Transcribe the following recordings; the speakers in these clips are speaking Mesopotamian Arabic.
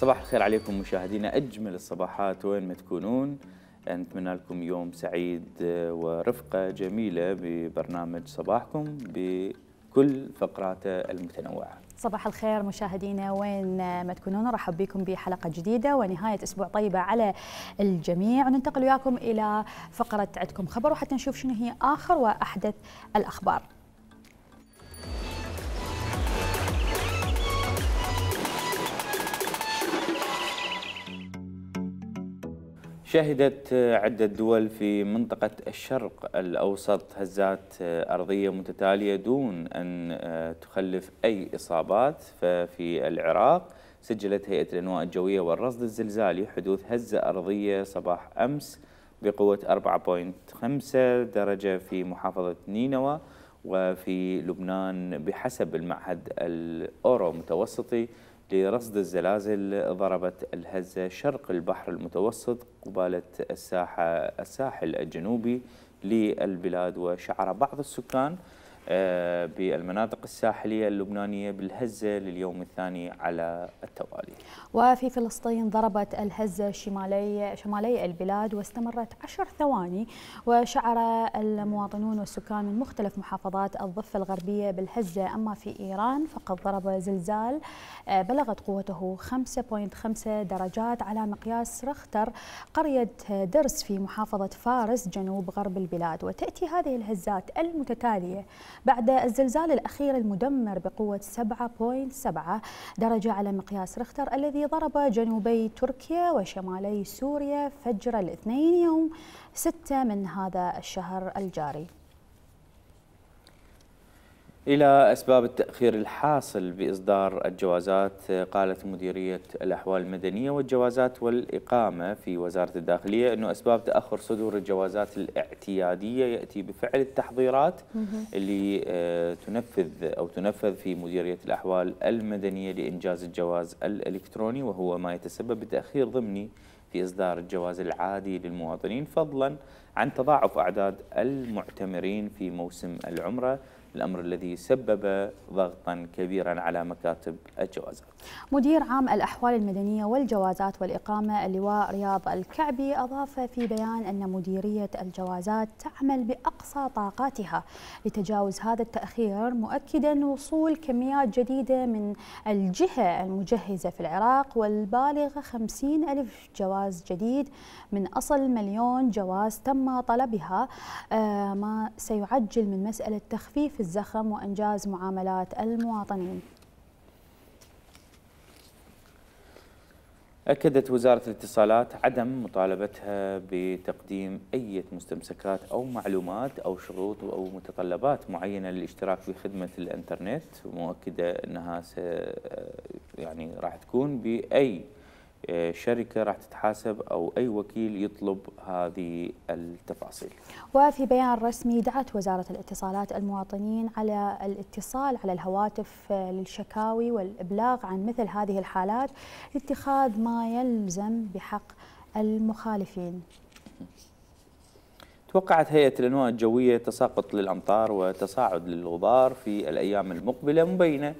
صباح الخير عليكم مشاهدينا أجمل الصباحات وين ما تكونون. نتمنى لكم يوم سعيد ورفقة جميلة ببرنامج صباحكم بكل فقراته المتنوعة. صباح الخير مشاهدينا وين ما تكونون، رحب بكم بحلقة جديدة ونهاية أسبوع طيبة على الجميع. وننتقل وياكم إلى فقرة عندكم خبر وحتى نشوف شنو هي آخر وأحدث الأخبار. شهدت عدة دول في منطقة الشرق الأوسط هزات أرضية متتالية دون أن تخلف أي إصابات. ففي العراق سجلت هيئة الأنواء الجوية والرصد الزلزالي حدوث هزة أرضية صباح أمس بقوة 4.5 درجة في محافظة نينوى. وفي لبنان بحسب المعهد الأورو متوسطي لرصد الزلازل ضربت الهزة شرق البحر المتوسط قبالة الساحل الجنوبي للبلاد. وشعر بعض السكان بالمناطق الساحلية اللبنانية بالهزة لليوم الثاني على التوالي. وفي فلسطين ضربت الهزة شمالي البلاد واستمرت 10 ثواني، وشعر المواطنون والسكان من مختلف محافظات الضفة الغربية بالهزة. أما في إيران فقد ضرب زلزال بلغت قوته 5.5 درجات على مقياس رختر قرية درس في محافظة فارس جنوب غرب البلاد. وتأتي هذه الهزات المتتالية بعد الزلزال الأخير المدمر بقوة 7.7 درجة على مقياس رختر الذي ضرب جنوبي تركيا وشمالي سوريا فجر الاثنين يوم 6 من هذا الشهر الجاري. إلى أسباب التأخير الحاصل بإصدار الجوازات، قالت مديرية الأحوال المدنية والجوازات والإقامة في وزارة الداخلية أنه أسباب تأخر صدور الجوازات الاعتيادية يأتي بفعل التحضيرات اللي تنفذ في مديرية الأحوال المدنية لإنجاز الجواز الإلكتروني، وهو ما يتسبب بتأخير ضمني في إصدار الجواز العادي للمواطنين، فضلا عن تضاعف أعداد المعتمرين في موسم العمرة، الأمر الذي سبب ضغطا كبيرا على مكاتب الجوازات. مدير عام الأحوال المدنية والجوازات والإقامة اللواء رياض الكعبي أضاف في بيان أن مديرية الجوازات تعمل بأقصى طاقاتها لتجاوز هذا التأخير، مؤكدا وصول كميات جديدة من الجهة المجهزة في العراق والبالغة 50,000 جواز جديد من أصل 1,000,000 جواز تم طلبها، ما سيعجل من مسألة تخفيف الزخم وإنجاز معاملات المواطنين. أكدت وزارة الاتصالات عدم مطالبتها بتقديم أي مستمسكات أو معلومات أو شروط أو متطلبات معينة للاشتراك في خدمة الإنترنت، مؤكدة أنها راح تكون بأي شركة راح تتحاسب أو أي وكيل يطلب هذه التفاصيل. وفي بيان رسمي دعت وزارة الاتصالات المواطنين على الاتصال على الهواتف للشكاوي والإبلاغ عن مثل هذه الحالات لاتخاذ ما يلزم بحق المخالفين. توقعت هيئة الأنواء الجوية تساقط للأمطار وتصاعد للغبار في الأيام المقبلة، مبينة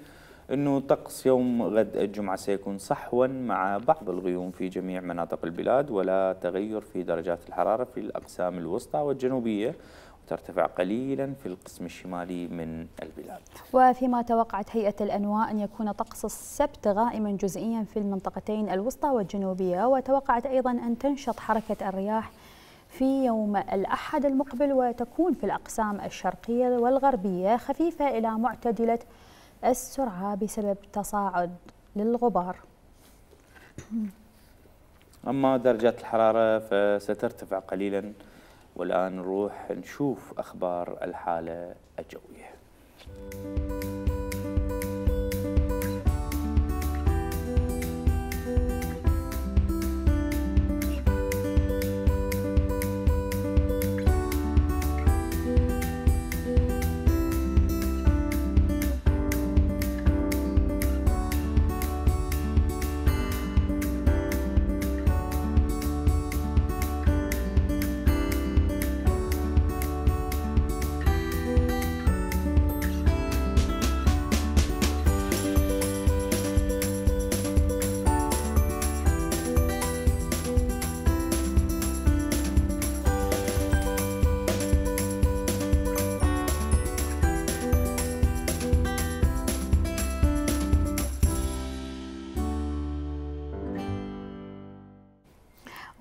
أنه طقس يوم غد الجمعة سيكون صحوا مع بعض الغيوم في جميع مناطق البلاد، ولا تغير في درجات الحرارة في الأقسام الوسطى والجنوبية، وترتفع قليلا في القسم الشمالي من البلاد. وفيما توقعت هيئة الأنواء أن يكون طقس السبت غائما جزئيا في المنطقتين الوسطى والجنوبية، وتوقعت أيضا أن تنشط حركة الرياح في يوم الأحد المقبل، وتكون في الأقسام الشرقية والغربية خفيفة إلى معتدلة السرعة بسبب تصاعد للغبار. أما درجات الحرارة فسترتفع قليلا، والآن نروح نشوف أخبار الحالة الجوية.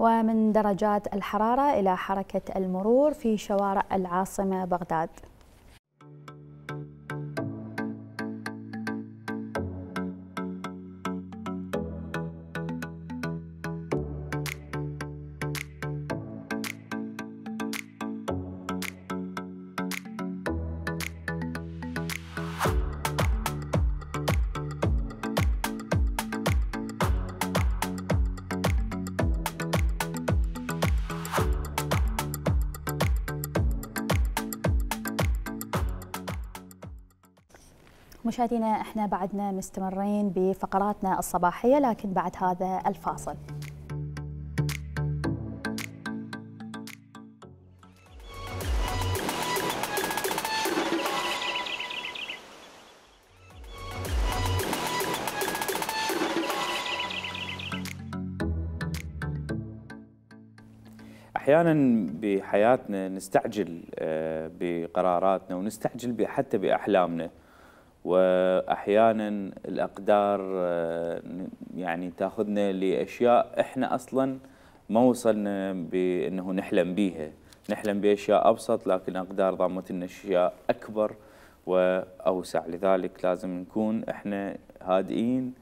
ومن درجات الحرارة إلى حركة المرور في شوارع العاصمة بغداد. مشاهدينا احنا بعدنا مستمرين بفقراتنا الصباحية، لكن بعد هذا الفاصل. أحيانا بحياتنا نستعجل بقراراتنا ونستعجل حتى بأحلامنا، وأحيانا الأقدار يعني تاخذنا لأشياء إحنا أصلا ما وصلنا بأنه نحلم بيها، نحلم بأشياء أبسط، لكن أقدار ضمت لنا أشياء أكبر وأوسع. لذلك لازم نكون إحنا هادئين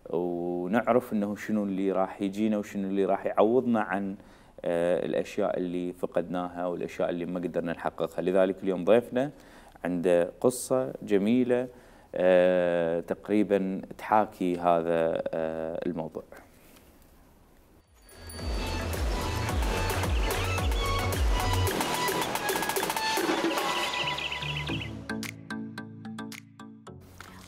ونعرف أنه شنو اللي راح يجينا وشنو اللي راح يعوضنا عن الأشياء اللي فقدناها والأشياء اللي ما قدرنا نحققها. لذلك اليوم ضيفنا عنده قصة جميلة تقريبا تحاكي هذا الموضوع.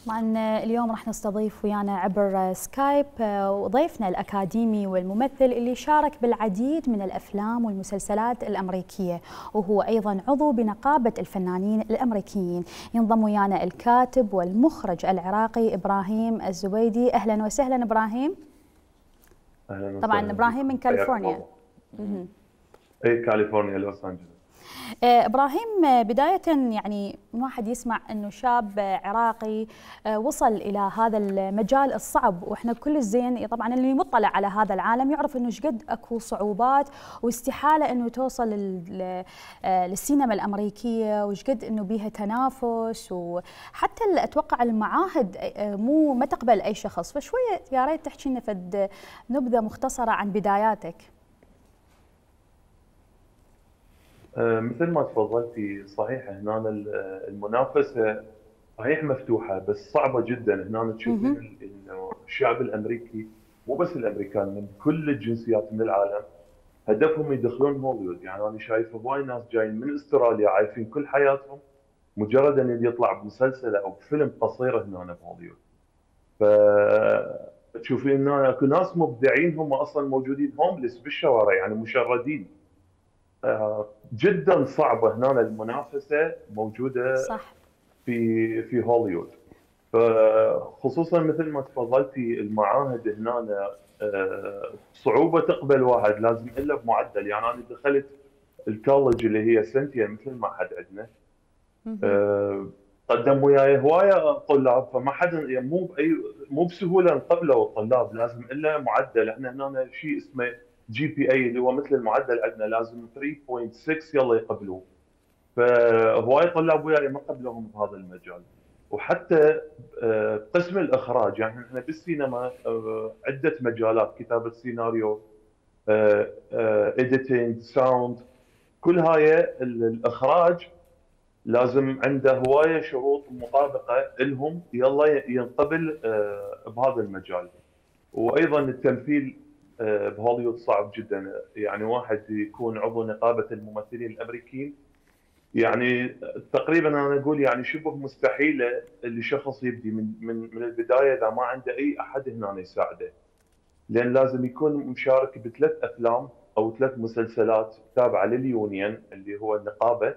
طبعا اليوم راح نستضيف ويانا عبر سكايب وضيفنا الأكاديمي والممثل اللي شارك بالعديد من الأفلام والمسلسلات الأمريكية، وهو أيضا عضو بنقابة الفنانين الأمريكيين. ينضم ويانا الكاتب والمخرج العراقي إبراهيم الزبيدي. أهلا وسهلا إبراهيم. أهلا وسهلا. طبعا إبراهيم من كاليفورنيا. أي كاليفورنيا لوس أنجلوس. إبراهيم، بداية يعني واحد يسمع أنه شاب عراقي وصل إلى هذا المجال الصعب، وإحنا كل الزين طبعا اللي مطلع على هذا العالم يعرف أنه شقد أكو صعوبات واستحالة أنه توصل للسينما الأمريكية، وشقد أنه بيها تنافس، وحتى أتوقع المعاهد ما تقبل أي شخص. فشوية يا ريت تحكي لنا فد نبذة مختصرة عن بداياتك. مثل ما تفضلتي صحيح، هنا المنافسة صحيح مفتوحة بس صعبة جدا. هنا تشوفين انه الشعب الامريكي مو بس الامريكان، من كل الجنسيات من العالم هدفهم يدخلون هوليوود. يعني انا شايف هواي ناس جايين من استراليا عايشين كل حياتهم مجرد ان يطلع بمسلسل او بفيلم قصير هنا بهوليوود. فتشوفين هنا اكو ناس مبدعين هم اصلا موجودين هومليس بالشوارع، يعني مشردين. جدا صعبه هنا المنافسه موجوده صح. في هوليوود. فخصوصا مثل ما تفضلتي المعاهد هنا صعوبه تقبل واحد، لازم الا بمعدل. يعني انا دخلت الكولج اللي هي سنتين مثل المعهد عندنا، قدم وياي هوايه طلاب، فما حدا يعني مو بسهوله نقبلوا الطلاب، لازم الا معدل. احنا هنا شيء اسمه جي بي اي اللي هو مثل المعدل عندنا، لازم 3.6 يلا يقبلوه. فهواي طلاب وياي ما قبلوهم بهذا المجال. وحتى قسم الاخراج، يعني احنا بالسينما عده مجالات، كتابه سيناريو، اديتنج، ساوند، كل هاي الاخراج لازم عنده هوايه شروط مطابقه لهم يلا ينقبل بهذا المجال. وايضا التمثيل بهوليوود صعب جدا. يعني واحد يكون عضو نقابه الممثلين الامريكيين، يعني تقريبا انا اقول يعني شبه مستحيله اللي شخص يبدي من البدايه اذا ما عنده اي احد هنا يساعده، لان لازم يكون مشارك بثلاث افلام او ثلاث مسلسلات تابعه لليونيون اللي هو النقابه،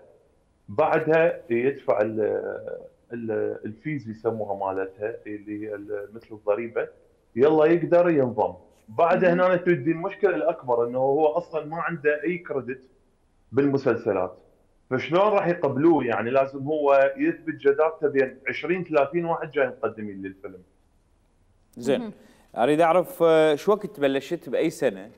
بعدها يدفع الفيز يسموها مالتها اللي هي مثل الضريبه، يلا يقدر ينضم. بعدها هنا تجي المشكله الاكبر انه هو اصلا ما عنده اي كريدت بالمسلسلات، فشلون راح يقبلوه؟ يعني لازم هو يثبت جدارته بين 20 30 واحد جاي مقدمين للفيلم. زين، اريد اعرف شو وقت بلشت، باي سنه؟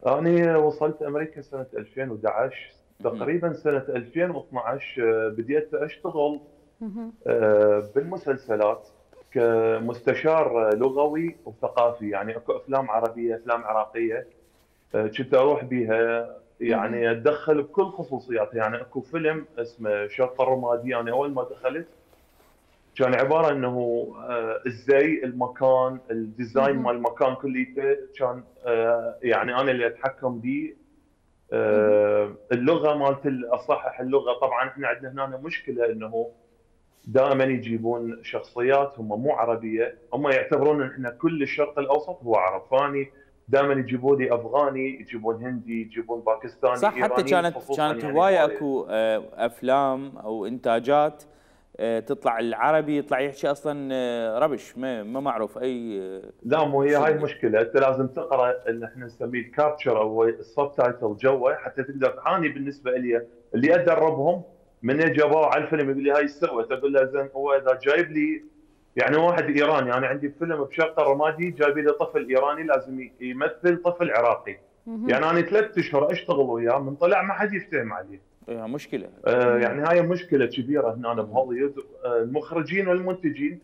أنا وصلت أمريكا سنة 2011. مهم. تقريبا سنة 2012 بديت أشتغل بالمسلسلات كمستشار لغوي وثقافي. يعني اكو افلام عربيه، افلام عراقيه كنت اروح بيها يعني اتدخل بكل خصوصياتها. يعني اكو فيلم اسمه شرق الرمادي، انا اول ما دخلت كان عباره انه ازاي المكان، الديزاين مال المكان كليته كان يعني انا اللي اتحكم به. اللغه مالت اصحح اللغه. طبعا احنا عندنا هنا مشكله انه دائما يجيبون شخصيات هم مو عربيه، هم يعتبرون ان احنا كل الشرق الاوسط هو عرب. فاني دائما يجيبون لي افغاني، يجيبون هندي، يجيبون باكستاني، صح، حتى ايراني كانت خصوصا كانت يعني هوايه هوايه. اكو افلام او انتاجات تطلع العربي يطلع يحكي اصلا ربش، ما معروف اي لا مو هي شيء هاي يعني. المشكله، انت لازم تقرا اللي احنا نسميه الكابتشر او السب تايتل جوا حتى تقدر تعاني. بالنسبه لي اللي ادربهم من جابوه على الفيلم يقول لي هاي استوت، اقول له زين هو اذا جايب لي يعني واحد ايراني، انا يعني عندي فيلم بشرق الرمادي جايب لي طفل ايراني لازم يمثل طفل عراقي. يعني انا 3 اشهر اشتغل وياه من طلع ما حد يفتهم عليه. مشكله. يعني هاي مشكله كبيره هنا مهم. بهوليوود. المخرجين والمنتجين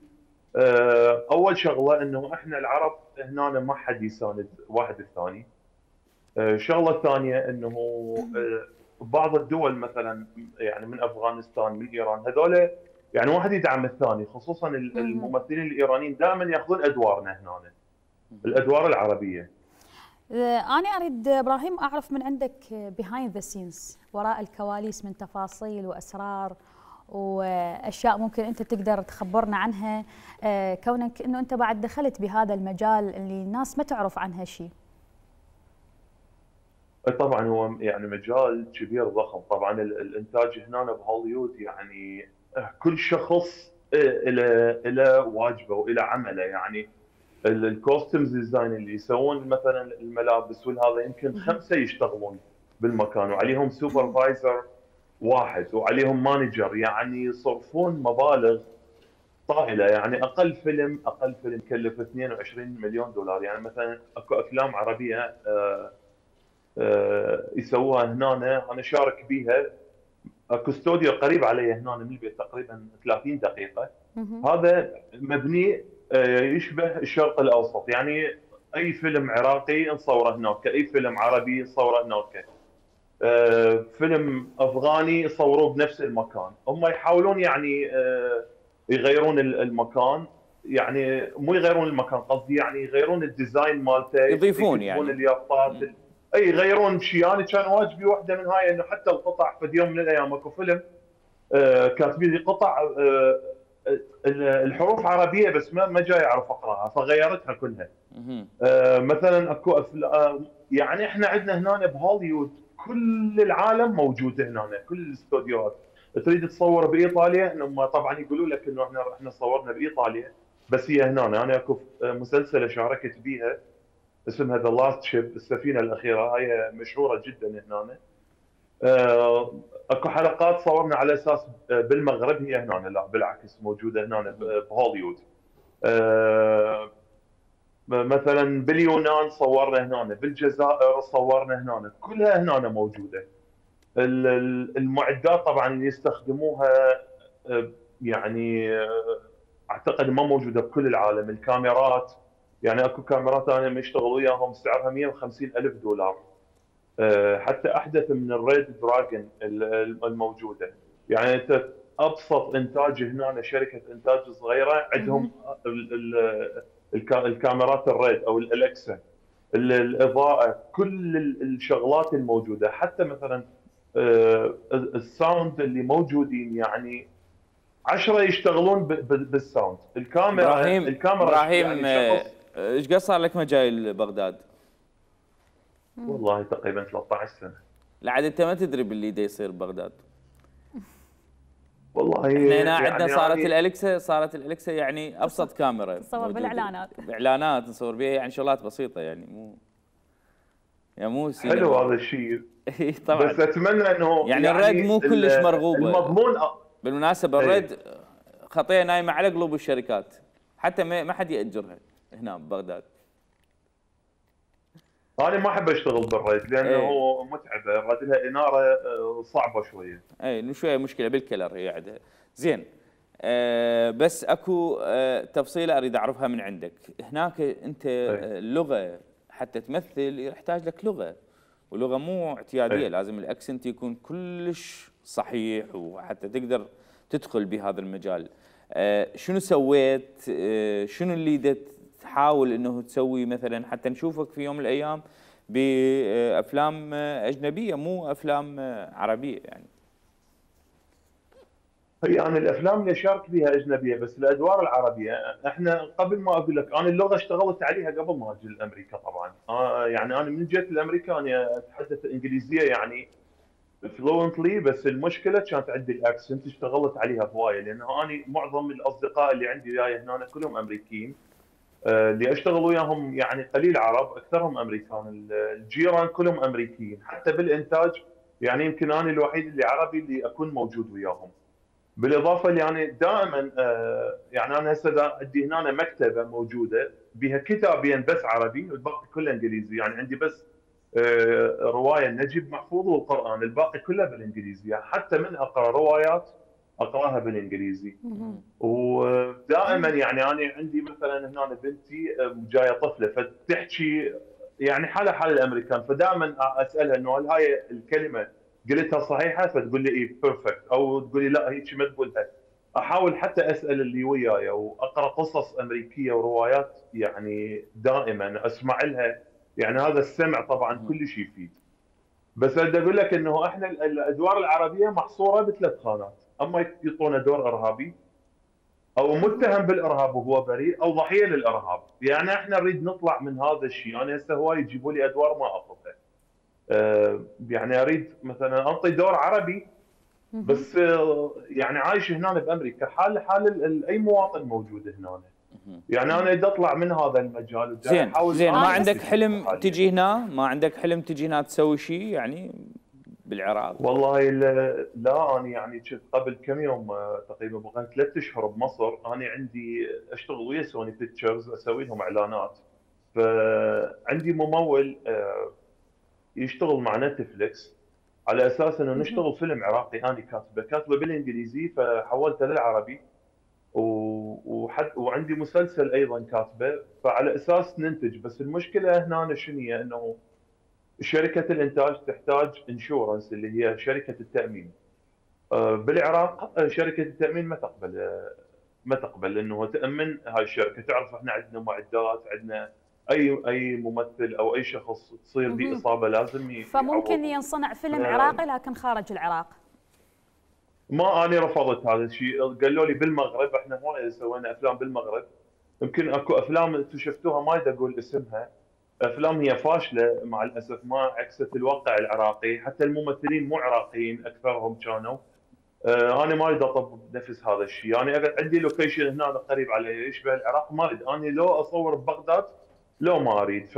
اول شغله انه احنا العرب هنا ما حد يساند واحد الثاني. الشغله الثانيه انه بعض الدول مثلا يعني من افغانستان، من ايران، هذول يعني واحد يدعم الثاني. خصوصا الممثلين الايرانيين دائما ياخذون ادوارنا هنا، الادوار العربيه. أنا أريد إبراهيم أعرف من عندك behind the scenes، وراء الكواليس، من تفاصيل وأسرار وأشياء ممكن أنت تقدر تخبرنا عنها، كونك أنه أنت بعد دخلت بهذا المجال اللي الناس ما تعرف عنها شيء. طبعا هو يعني مجال كبير ضخم. طبعا الانتاج هنا بهوليوود يعني كل شخص له واجبه والى عمله. يعني الكوستمز ديزاين اللي يسوون مثلا الملابس والهذا يمكن 5 يشتغلون بالمكان، وعليهم سوبرفايزر واحد، وعليهم مانجر. يعني يصرفون مبالغ طائله. يعني اقل فيلم كلف 22 مليون دولار. يعني مثلا اكو افلام عربيه يسووها هنا، انا شارك بيها. اكو استوديو قريب علي هنا من البيت تقريبا 30 دقيقه. هذا مبني يشبه الشرق الاوسط. يعني اي فيلم عراقي نصوره هناك، اي فيلم عربي نصوره هناك، فيلم افغاني صوروه بنفس المكان. هم يحاولون يعني يغيرون المكان. يعني مو يغيرون المكان، قصدي يعني يغيرون الديزاين مالته، يضيفون يكتبون يعني. اليافطات. اي يغيرون شيء. انا كان واجبي واحده من هاي انه حتى القطع في يوم من الايام اكو فيلم كاتبين لي قطع الحروف عربيه بس ما جاي اعرف اقراها فغيرتها كلها. مثلا اكو يعني احنا عندنا هنا بهوليوود كل العالم موجود هنا، كل الاستوديوهات. تريد تصور بايطاليا هم طبعا يقولوا لك انه احنا صورنا بايطاليا، بس هي هنا. انا اكو مسلسله شاركت بيها اسمها ذا لاست شيب، السفينه الاخيره. هاي مشهوره جدا هنا. اكو حلقات صورنا على اساس بالمغرب، هي هنا لا بالعكس موجوده هنا بهوليوود. مثلا باليونان صورنا هنا، بالجزائر صورنا هنا، كلها هنا موجوده. المعدات طبعا اللي يستخدموها يعني اعتقد ما موجوده بكل العالم. الكاميرات يعني اكو كاميرات انا مشتغل وياهم سعرها 150 الف دولار. حتى احدث من الريد دراجون الموجوده. يعني انت ابسط انتاج هنا شركه انتاج صغيره عندهم الكاميرات الريد او الالكسا، الاضاءه، كل الشغلات الموجوده. حتى مثلا الساوند اللي موجودين يعني 10 يشتغلون بالساوند. الكاميرا ابراهيم يعني شخص. ايش قد صار لك ما جاي لبغداد؟ والله تقريبا 13 سنه. لعد انت ما تدري باللي دا يصير ببغداد. والله احنا هنا عندنا يعني صارت الالكسا يعني ابسط كاميرا تصور بالاعلانات، باعلانات نصور بها يعني شغلات بسيطه، يعني مو سينما. حلو هذا الشيء. طبعا بس اتمنى انه يعني الريد مو كلش مرغوبه. المضمون بالمناسبه الريد خطيه نايمه على قلوب الشركات، حتى ما حد ياجرها هنا ببغداد. انا ما احب اشتغل بالريد لانه اي هو متعبه، الريد لها اناره صعبه شويه. اي شويه مشكله بالكلر هي عندها. زين. بس اكو تفصيله اريد اعرفها من عندك. هناك انت اي اللغه حتى تمثل يحتاج لك لغه، ولغه مو اعتياديه، اي لازم الاكسنت يكون كلش صحيح وحتى تقدر تدخل بهذا المجال. شنو سويت؟ شنو اللي تحاول انه تسوي مثلا حتى نشوفك في يوم من الايام بافلام اجنبيه مو افلام عربيه يعني؟ هي يعني الافلام اللي اشارك بها اجنبيه، بس الادوار العربيه احنا قبل ما اقول لك انا اللغه اشتغلت عليها قبل ما اجي لامريكا طبعا. يعني انا من جيت لامريكا انا اتحدث انجليزيه يعني فلوينتلي، بس المشكله كانت عندي الاكسنت اشتغلت عليها هوايه، لانه انا معظم الاصدقاء اللي عندي جاي هنا كلهم امريكيين. اللي اشتغل وياهم يعني قليل عرب، اكثرهم امريكان، الجيران كلهم امريكيين، حتى بالانتاج يعني يمكن انا الوحيد اللي عربي اللي اكون موجود وياهم. بالاضافه اللي يعني دائما يعني انا هسه عندي هنا مكتبه موجوده بها كتابين بس عربي والباقي كله انجليزي، يعني عندي بس روايه نجيب محفوظ والقران، الباقي كله بالانجليزي، يعني حتى من اقرا روايات اقراها بالانجليزي. ودائما يعني انا عندي مثلا هنا بنتي جايه طفله فتحكي يعني حالها حال الامريكان، فدائما اسالها انه هل هاي الكلمه قلتها صحيحه؟ فتقول لي اي بيرفكت، او تقول لي لا هيك ما تقولها. احاول حتى اسال اللي وياي واقرا قصص امريكيه وروايات، يعني دائما اسمع لها. يعني هذا السمع طبعا كل شيء يفيد. بس بدي اقول لك انه احنا الادوار العربيه محصوره بثلاث خانات: اما يعطونا دور ارهابي، او متهم بالارهاب وهو بريء، او ضحيه للارهاب. يعني احنا نريد نطلع من هذا الشيء. انا هسه هواي يجيبوا لي ادوار ما اخذها. يعني اريد مثلا انطي دور عربي، بس يعني عايش هنا بامريكا حال اي مواطن موجود هنا. يعني انا اريد اطلع من هذا المجال وجاي زين احاول زين، ما انا عندك اكتشف حلم حاليا. تجي هنا؟ ما عندك حلم تجي هنا تسوي شيء يعني بالعراق؟ والله لا انا يعني كنت قبل كم يوم تقريبا بقيت 3 اشهر بمصر. انا عندي اشتغل ويا سوني بيكتشرز، اسوي لهم اعلانات. فعندي ممول يشتغل مع نتفليكس على اساس انه نشتغل فيلم عراقي. انا كاتبه بالانجليزي فحولته للعربي، وعندي مسلسل ايضا كاتبه، فعلى اساس ننتج. بس المشكله هنا شنو هي؟ انه شركه الانتاج تحتاج انشورنس اللي هي شركه التامين. بالعراق شركه التامين ما تقبل انه تامن هاي الشركه. تعرف احنا عندنا معدات، عندنا اي ممثل او اي شخص تصير به اصابه لازم فممكن يعوض. ينصنع فيلم عراقي لكن خارج العراق. ما انا رفضت هذا الشيء. قالوا لي بالمغرب، احنا هواي سوينا افلام بالمغرب. يمكن اكو افلام انتم شفتوها ما ادري اقول اسمها، افلام هي فاشله مع الاسف، ما عكست الواقع العراقي. حتى الممثلين مو عراقيين اكثرهم كانوا. انا ما اريد اطبق نفس هذا الشيء. يعني انا عندي لوكيشن هنا قريب علي يشبه العراق، ما اريد انا لو اصور ببغداد، لو ما اريد.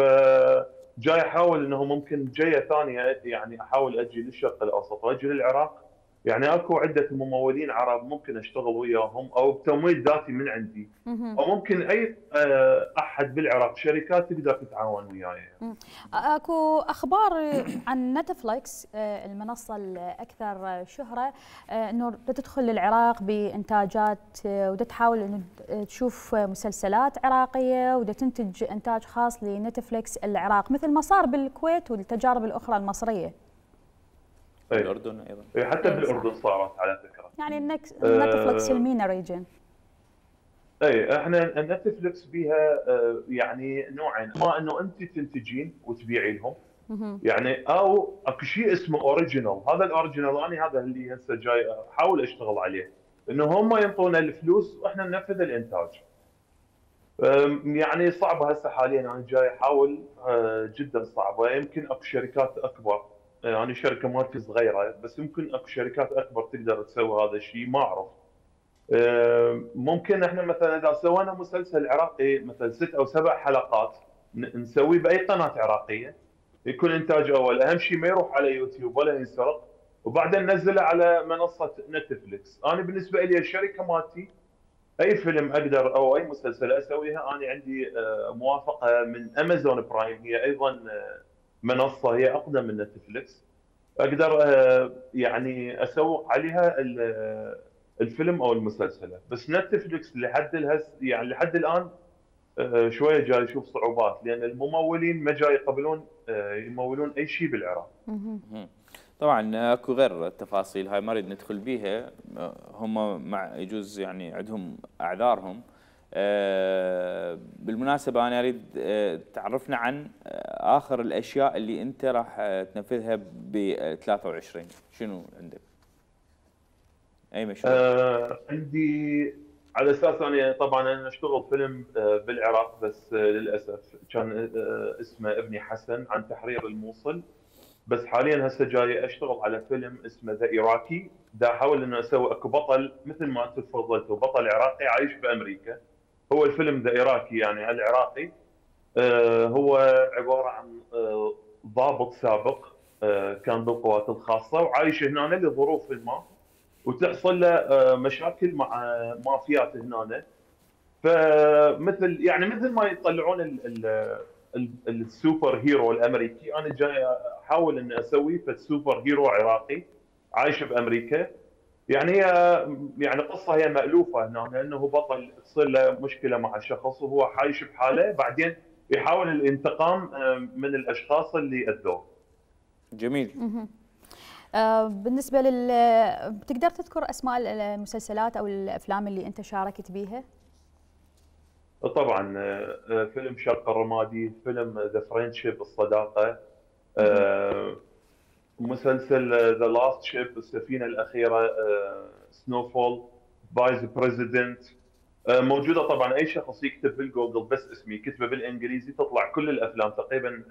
جاي احاول انه ممكن جايه ثانيه يعني احاول اجي للشرق الاوسط واجي للعراق. يعني اكو عده ممولين عرب ممكن اشتغل وياهم او بتمويل ذاتي من عندي، او ممكن اي احد بالعراق شركات تقدر تتعاون وياي. اكو اخبار عن نتفليكس المنصه الاكثر شهره انه تدخل للعراق بانتاجات وتحاول انه تشوف مسلسلات عراقيه وتنتج انتاج خاص لنتفليكس العراق، مثل ما صار بالكويت والتجارب الاخرى المصريه. بالاردن ايضا. حتى بالاردن صارت على فكره. يعني نتفليكس المينا ريجن. اي احنا نتفلكس بيها يعني نوعين: اما انه انت تنتجين وتبيعي لهم، يعني او اكو شيء اسمه اوريجينال. هذا الاوريجينال انا هذا اللي هسه جاي احاول اشتغل عليه، انه هم ينطونا الفلوس واحنا ننفذ الانتاج. يعني صعبه هسه حاليا، انا جاي احاول جدا صعبه. يمكن اكو شركات اكبر، يعني شركه مالتي صغيره، بس يمكن اكو شركات اكبر تقدر تسوي هذا الشيء، ما اعرف. ممكن احنا مثلا اذا سوينا مسلسل عراقي مثلا 6 أو 7 حلقات نسويه باي قناه عراقيه، يكون انتاج اول. اهم شيء ما يروح على يوتيوب ولا ينسرق، وبعدين ننزله على منصه نتفلكس. انا بالنسبه لي الشركه مالتي اي فيلم اقدر او اي مسلسل اسويها، انا عندي موافقه من امازون برايم، هي ايضا منصه هي اقدم من نتفلكس. اقدر يعني اسوق عليها الفيلم او المسلسل. بس نتفلكس يعني لحد الان شويه جاي يشوف صعوبات، لان الممولين ما جاي يقبلون يمولون اي شيء بالعراق. طبعا اكو غير التفاصيل هاي ما نريد ندخل بيها، هم مع يجوز يعني عندهم اعذارهم. بالمناسبه انا اريد تعرفنا عن اخر الاشياء اللي انت راح تنفذها ب 23. شنو عندك؟ اي مشروع؟ عندي على اساس انا طبعا انا اشتغل فيلم بالعراق، بس للاسف كان اسمه ابني حسن عن تحرير الموصل. بس حاليا هسه جاي اشتغل على فيلم اسمه ذا ايراكي، دا احاول انه اسوي اكو بطل مثل ما انت تفضلتوا، بطل عراقي عايش بامريكا. هو الفيلم ذا ايراكي يعني العراقي. هو عباره عن ضابط سابق كان بالقوات الخاصه وعايش هنا لظروف ما، وتحصل له مشاكل مع مافيات هنا. فمثل يعني مثل ما يطلعون السوبر هيرو الامريكي، انا جاي احاول اني اسوي سوبر هيرو عراقي عايش بامريكا. يعني هي يعني قصه هي مالوفه هنا، لانه هو بطل تصير له مشكله مع شخص وهو عايش بحاله، بعدين يحاول الانتقام من الاشخاص اللي اذوه. جميل. بالنسبه بتقدر تذكر اسماء المسلسلات او الافلام اللي انت شاركت بيها؟ طبعا فيلم شرق الرمادي، فيلم ذا فريندشيب الصداقه، مسلسل ذا لاست شيب السفينه الاخيره، سنوفول، فايس بريزيدنت. موجوده طبعا، اي شخص يكتب بالجوجل بس اسمي كتبه بالانجليزي تطلع كل الافلام تقريبا.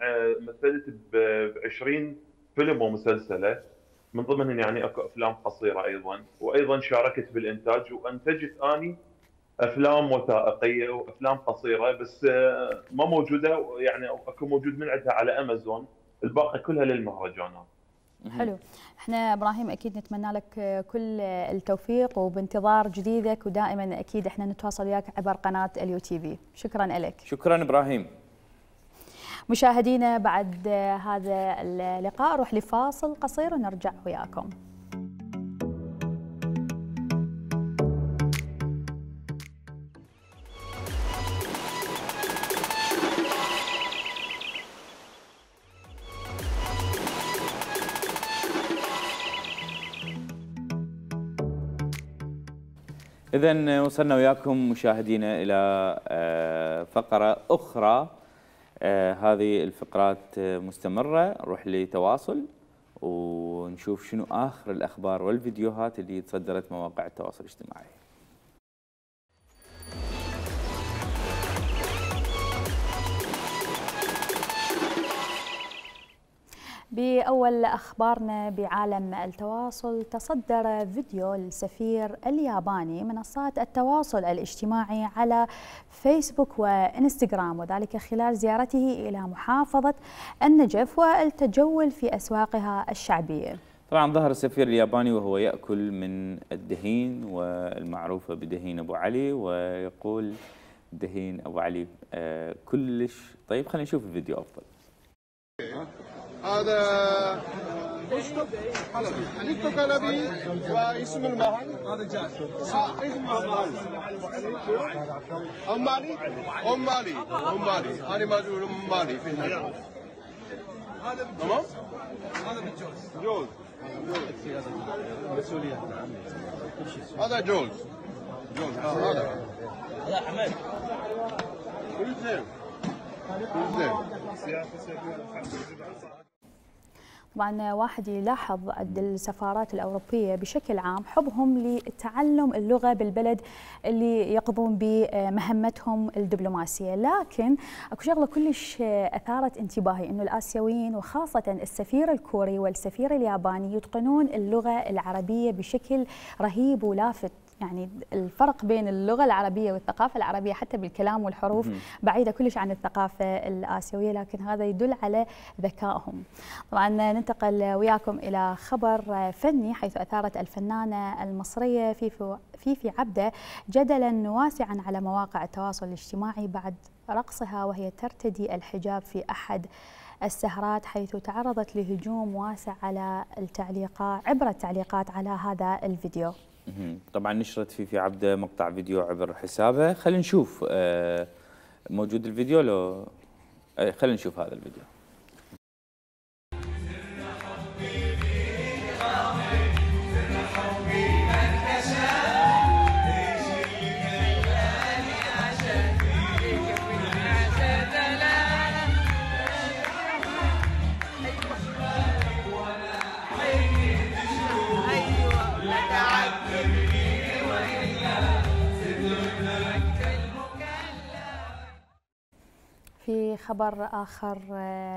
مثلت ب 20 فيلم ومسلسله، من ضمنهم يعني اكو افلام قصيره ايضا، وايضا شاركت بالانتاج وانتجت اني افلام وثائقيه وافلام قصيره، بس ما موجوده يعني اكو موجود من عندها على امازون، الباقي كلها للمهرجانات. حلو. احنا ابراهيم اكيد نتمنى لك كل التوفيق وبانتظار جديدك، ودائما اكيد احنا نتواصل وياك عبر قناه اليو تي في. شكرا لك. شكرا ابراهيم. مشاهدينا بعد هذا اللقاء نروح لفاصل قصير ونرجع وياكم. إذن وصلنا وياكم مشاهدينا إلى فقرة أخرى. هذه الفقرات مستمرة، نروح لتواصل ونشوف شنو آخر الأخبار والفيديوهات اللي تصدرت مواقع التواصل الاجتماعي. بأول أخبارنا بعالم التواصل، تصدر فيديو السفير الياباني منصات التواصل الاجتماعي على فيسبوك وإنستغرام، وذلك خلال زيارته إلى محافظة النجف والتجول في أسواقها الشعبية. طبعا ظهر السفير الياباني وهو يأكل من الدهين والمعروفة بدهين أبو علي، ويقول دهين أبو علي كلش طيب. خلينا نشوف الفيديو أفضل. هذا حليب كلبي واسم المحل هذا جاء اسمه أمالي أنا ما أقول أمالي في هذا. تمام هذا بالجوز مسؤولية هذا جوز هذا حمد كل زين طبعا واحد يلاحظ عند السفارات الأوروبية بشكل عام حبهم لتعلم اللغة بالبلد اللي يقضون بمهمتهم الدبلوماسية، لكن اكو شغلة كلش أثارت انتباهي، انه الآسيويين وخاصة السفير الكوري والسفير الياباني يتقنون اللغة العربية بشكل رهيب ولافت. يعني الفرق بين اللغة العربية والثقافة العربية حتى بالكلام والحروف بعيدة كلش عن الثقافة الآسيوية، لكن هذا يدل على ذكائهم. طبعا ننتقل وياكم إلى خبر فني، حيث أثارت الفنانة المصرية فيفي عبده جدلا واسعا على مواقع التواصل الاجتماعي بعد رقصها وهي ترتدي الحجاب في أحد السهرات، حيث تعرضت لهجوم واسع على عبر التعليقات على هذا الفيديو. طبعا نشرت فيفي عبده مقطع فيديو عبر حسابها. خلينا نشوف موجود الفيديو لو خلينا نشوف هذا الفيديو. في خبر آخر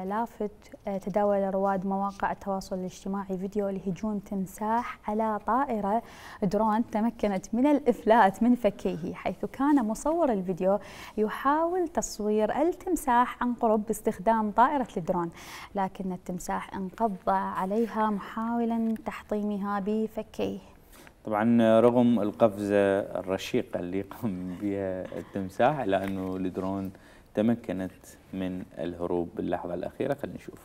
لافت، تداول رواد مواقع التواصل الاجتماعي فيديو لهجوم تمساح على طائرة درون تمكنت من الإفلات من فكيه، حيث كان مصور الفيديو يحاول تصوير التمساح عن قرب باستخدام طائرة الدرون، لكن التمساح انقض عليها محاولا تحطيمها بفكيه. طبعا رغم القفزة الرشيقة اللي قام بها التمساح، إلا أنه الدرون تمكنت من الهروب باللحظة الأخيرة. خلينا نشوف.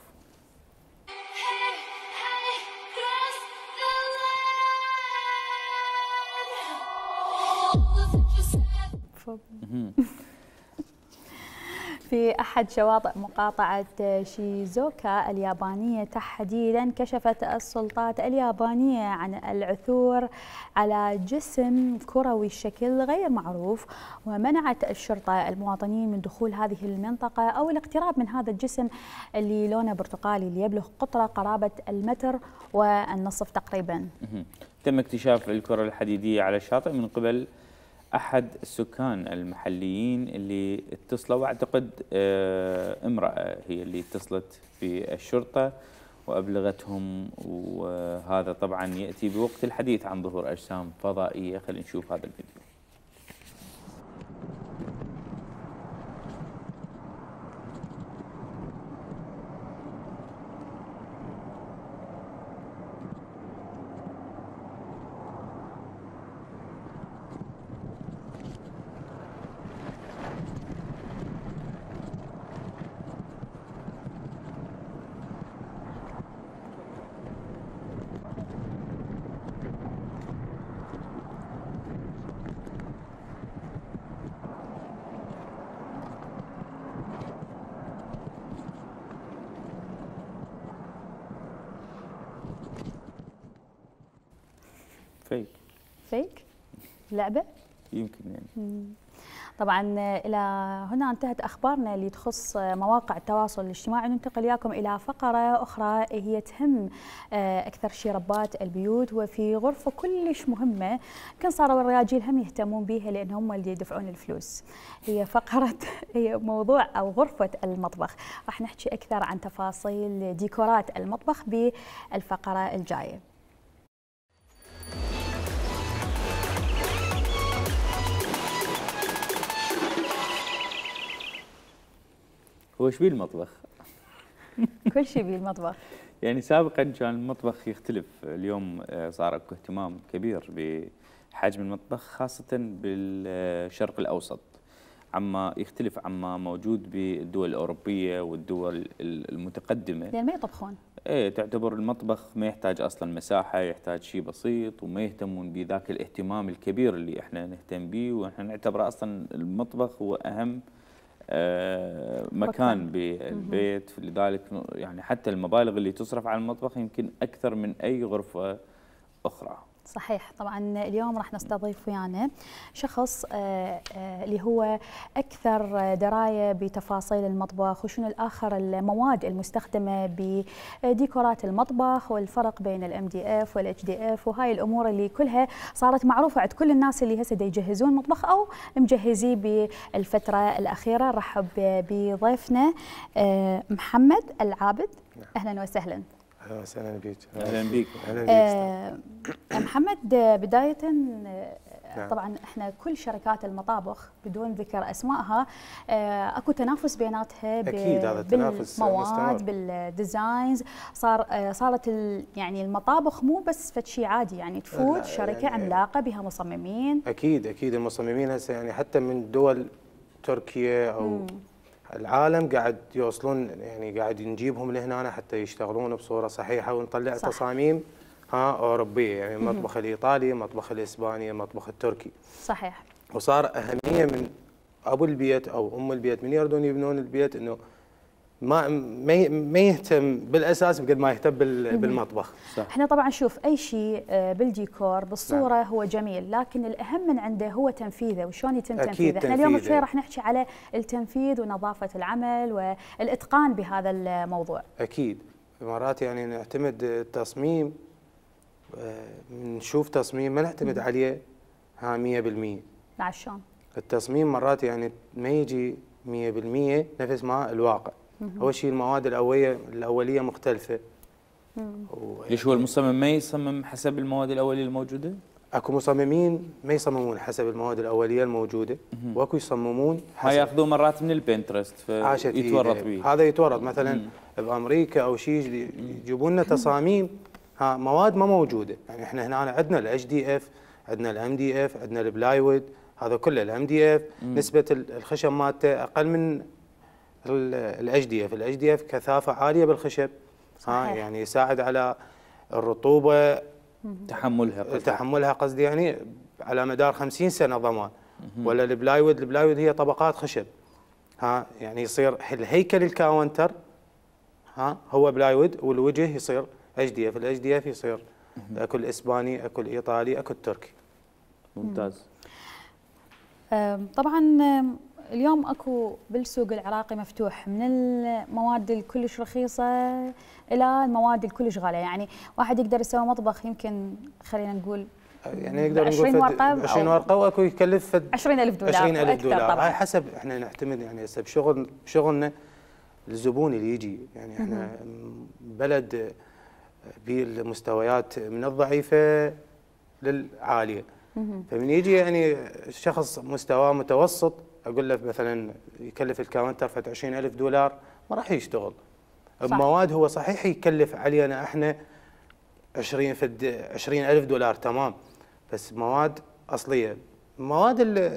في أحد شواطئ مقاطعة شيزوكا اليابانية تحديدا، كشفت السلطات اليابانية عن العثور على جسم كروي الشكل غير معروف، ومنعت الشرطة المواطنين من دخول هذه المنطقة أو الاقتراب من هذا الجسم اللي لونه برتقالي، اللي يبلغ قطره قرابة 1.5 متر تقريبا. تم اكتشاف الكرة الحديدية على الشاطئ من قبل أحد السكان المحليين اللي اتصلوا، واعتقد امرأة هي اللي اتصلت بالشرطة وأبلغتهم، وهذا طبعا يأتي بوقت الحديث عن ظهور أجسام فضائية. خلينا نشوف هذا الفيديو. فيك لعبة يمكن يعني. طبعا إلى هنا انتهت أخبارنا اللي تخص مواقع التواصل الاجتماعي. ننتقل وياكم إلى فقرة أخرى هي تهم أكثر شي ربات البيوت، وفي غرفة كلش مهمة كان صاروا الرجال هم يهتمون بها لأن هم اللي يدفعون الفلوس. هي موضوع أو غرفة المطبخ. راح نحكي أكثر عن تفاصيل ديكورات المطبخ بالفقرة الجاية. هو ايش بيه المطبخ؟ كل شيء بيه المطبخ. يعني سابقا كان المطبخ يختلف، اليوم صار اكو اهتمام كبير بحجم المطبخ خاصة بالشرق الأوسط، عما يختلف عما موجود بالدول الأوروبية والدول المتقدمة. لأن ما يطبخون. ايه، تعتبر المطبخ ما يحتاج اصلا مساحة، يحتاج شيء بسيط، وما يهتمون بذاك الاهتمام الكبير اللي احنا نهتم به، واحنا نعتبره اصلا المطبخ هو اهم مكان بالبيت. لذلك يعني حتى المبالغ اللي تصرف على المطبخ يمكن أكثر من أي غرفة أخرى. صحيح. طبعا اليوم راح نستضيف ويانا شخص اللي هو أكثر دراية بتفاصيل المطبخ وشنو الآخر المواد المستخدمة بديكورات المطبخ والفرق بين الMDF والHDF وهاي الأمور اللي كلها صارت معروفة عند كل الناس اللي هسه يجهزون مطبخ أو مجهزيه بالفترة الأخيرة. رحب بضيفنا محمد العابد. أهلا وسهلا. اهلا وسهلا بك. اهلا بك. محمد، بداية نعم. طبعا احنا كل شركات المطابخ بدون ذكر اسمائها اكو تنافس بيناتها اكيد هذا التنافس بالمواد بالديزاينز. صارت يعني المطابخ مو بس فد شيء عادي، يعني تفوت شركه يعني عملاقه بها مصممين. اكيد المصممين هسه يعني حتى من دول تركيا او العالم قاعد يوصلون، يعني قاعد نجيبهم لهنا حتى يشتغلون بصوره صحيحه ونطلع صح. تصاميم اوروبيه، يعني المطبخ الايطالي، المطبخ الاسباني، المطبخ التركي. صحيح. وصار اهميه من ابو البيت او ام البيت من يردون يبنون البيت انه ما يهتم بالاساس بقد ما يهتم بالمطبخ. صح. احنا طبعا شوف اي شيء بالديكور بالصوره نعم. هو جميل، لكن الاهم من عنده هو تنفيذه وشلون يتم تنفيذه. احنا اليوم شوي راح نحكي على التنفيذ ونظافه العمل والاتقان بهذا الموضوع. اكيد مرات يعني نعتمد التصميم، نشوف تصميم ما نعتمد عليه 100%. عشان التصميم مرات يعني ما يجي 100% نفس ما الواقع. اول شيء المواد الاوليه مختلفه. ليش هو المصمم ما يصمم حسب المواد الاوليه الموجوده؟ اكو مصممين ما يصممون حسب المواد الاوليه الموجوده، واكو يصممون حسب ياخذون مرات من البنترست فيتورط به. هذا يتورط مثلا بامريكا او شيء يجيبون لنا تصاميم مواد ما موجوده. يعني احنا هنا عندنا الاتش دي اف، عندنا الام دي اف، عندنا البلايوود، هذا كله الام دي اف نسبه الخشب مالته اقل من الاتش دي اف. الاتش دي اف كثافه عاليه بالخشب، يعني يساعد على الرطوبه تحملها قصدي يعني على مدار 50 سنه ضمان. ولا البلايوود هي طبقات خشب، يعني يصير الهيكل الكاونتر هو بلايوود والوجه يصير اتش دي اف. الاتش دي اف يصير اكو الاسباني، اكو الايطالي، اكو التركي. ممتاز. طبعا اليوم اكو بالسوق العراقي مفتوح من المواد الكلش رخيصه الى المواد الكلش غاليه، يعني واحد يقدر يسوي مطبخ يمكن خلينا نقول يعني نقدر نقول 20 ورقه واكو يكلف 20,000 دولار 20,000 دولار. هاي حسب احنا نعتمد يعني هسه بشغلنا الزبون اللي يجي، يعني احنا بلد بالمستويات من الضعيفه للعاليه. فمن يجي يعني شخص مستواه متوسط اقول له مثلا يكلف الكاونتر فد 20,000 دولار ما راح يشتغل. بمواد هو صحيح يكلف علينا احنا 20,000 دولار تمام، بس مواد اصليه. المواد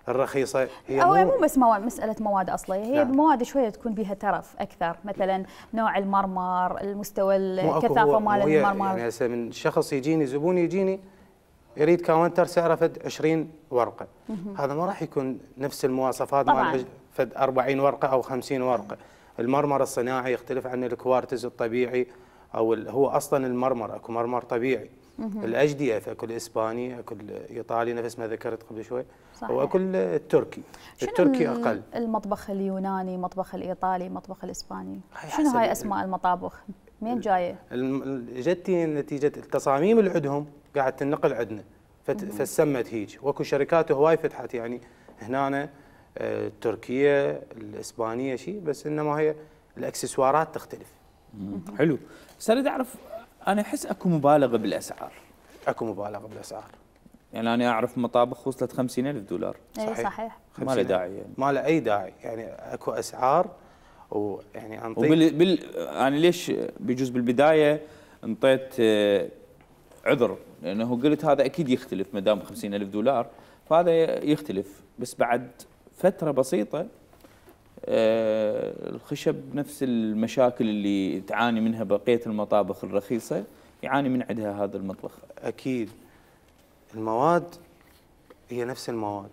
الرخيصه هي مو بس مساله مواد اصليه، هي نعم. مواد شويه تكون بها ترف اكثر، مثلا نوع المرمر، المستوى الكثافه مال المرمر. يعني هسه من شخص يجيني زبون يجيني يريد كاونتر سعره فد 20 ورقه، هذا ما راح يكون نفس المواصفات مال فد 40 ورقه او 50 ورقه. المرمر الصناعي يختلف عن الكوارتز الطبيعي، او هو اصلا المرمر اكو مرمر طبيعي. الاتش دي اف اكو الاسباني، اكو الايطالي نفس ما ذكرت قبل شوي، واكو التركي. التركي اقل. المطبخ اليوناني، المطبخ الايطالي، المطبخ الاسباني، شنو هاي اسماء المطابخ؟ منين جايه؟ جتي نتيجه التصاميم اللي عندهم قاعد تنقل عندنا فسمت هيج. واكو شركات هواي فتحت يعني هنا التركيه الاسبانيه شيء، بس انما هي الاكسسوارات تختلف. حلو. بس اريد اعرف، انا احس اكو مبالغه بالاسعار. اكو مبالغه بالاسعار. يعني انا اعرف مطابخ وصلت 50,000 دولار. صحيح. ما له داعي يعني. ما له اي داعي، يعني اكو اسعار ويعني انا ليش بيجوز بالبدايه انطيت عذر، لانه قلت هذا اكيد يختلف ما دام 50,000 دولار فهذا يختلف، بس بعد فتره بسيطه الخشب نفس المشاكل اللي تعاني منها بقيه المطابخ الرخيصه يعاني من عندها هذا المطبخ. اكيد المواد هي نفس المواد،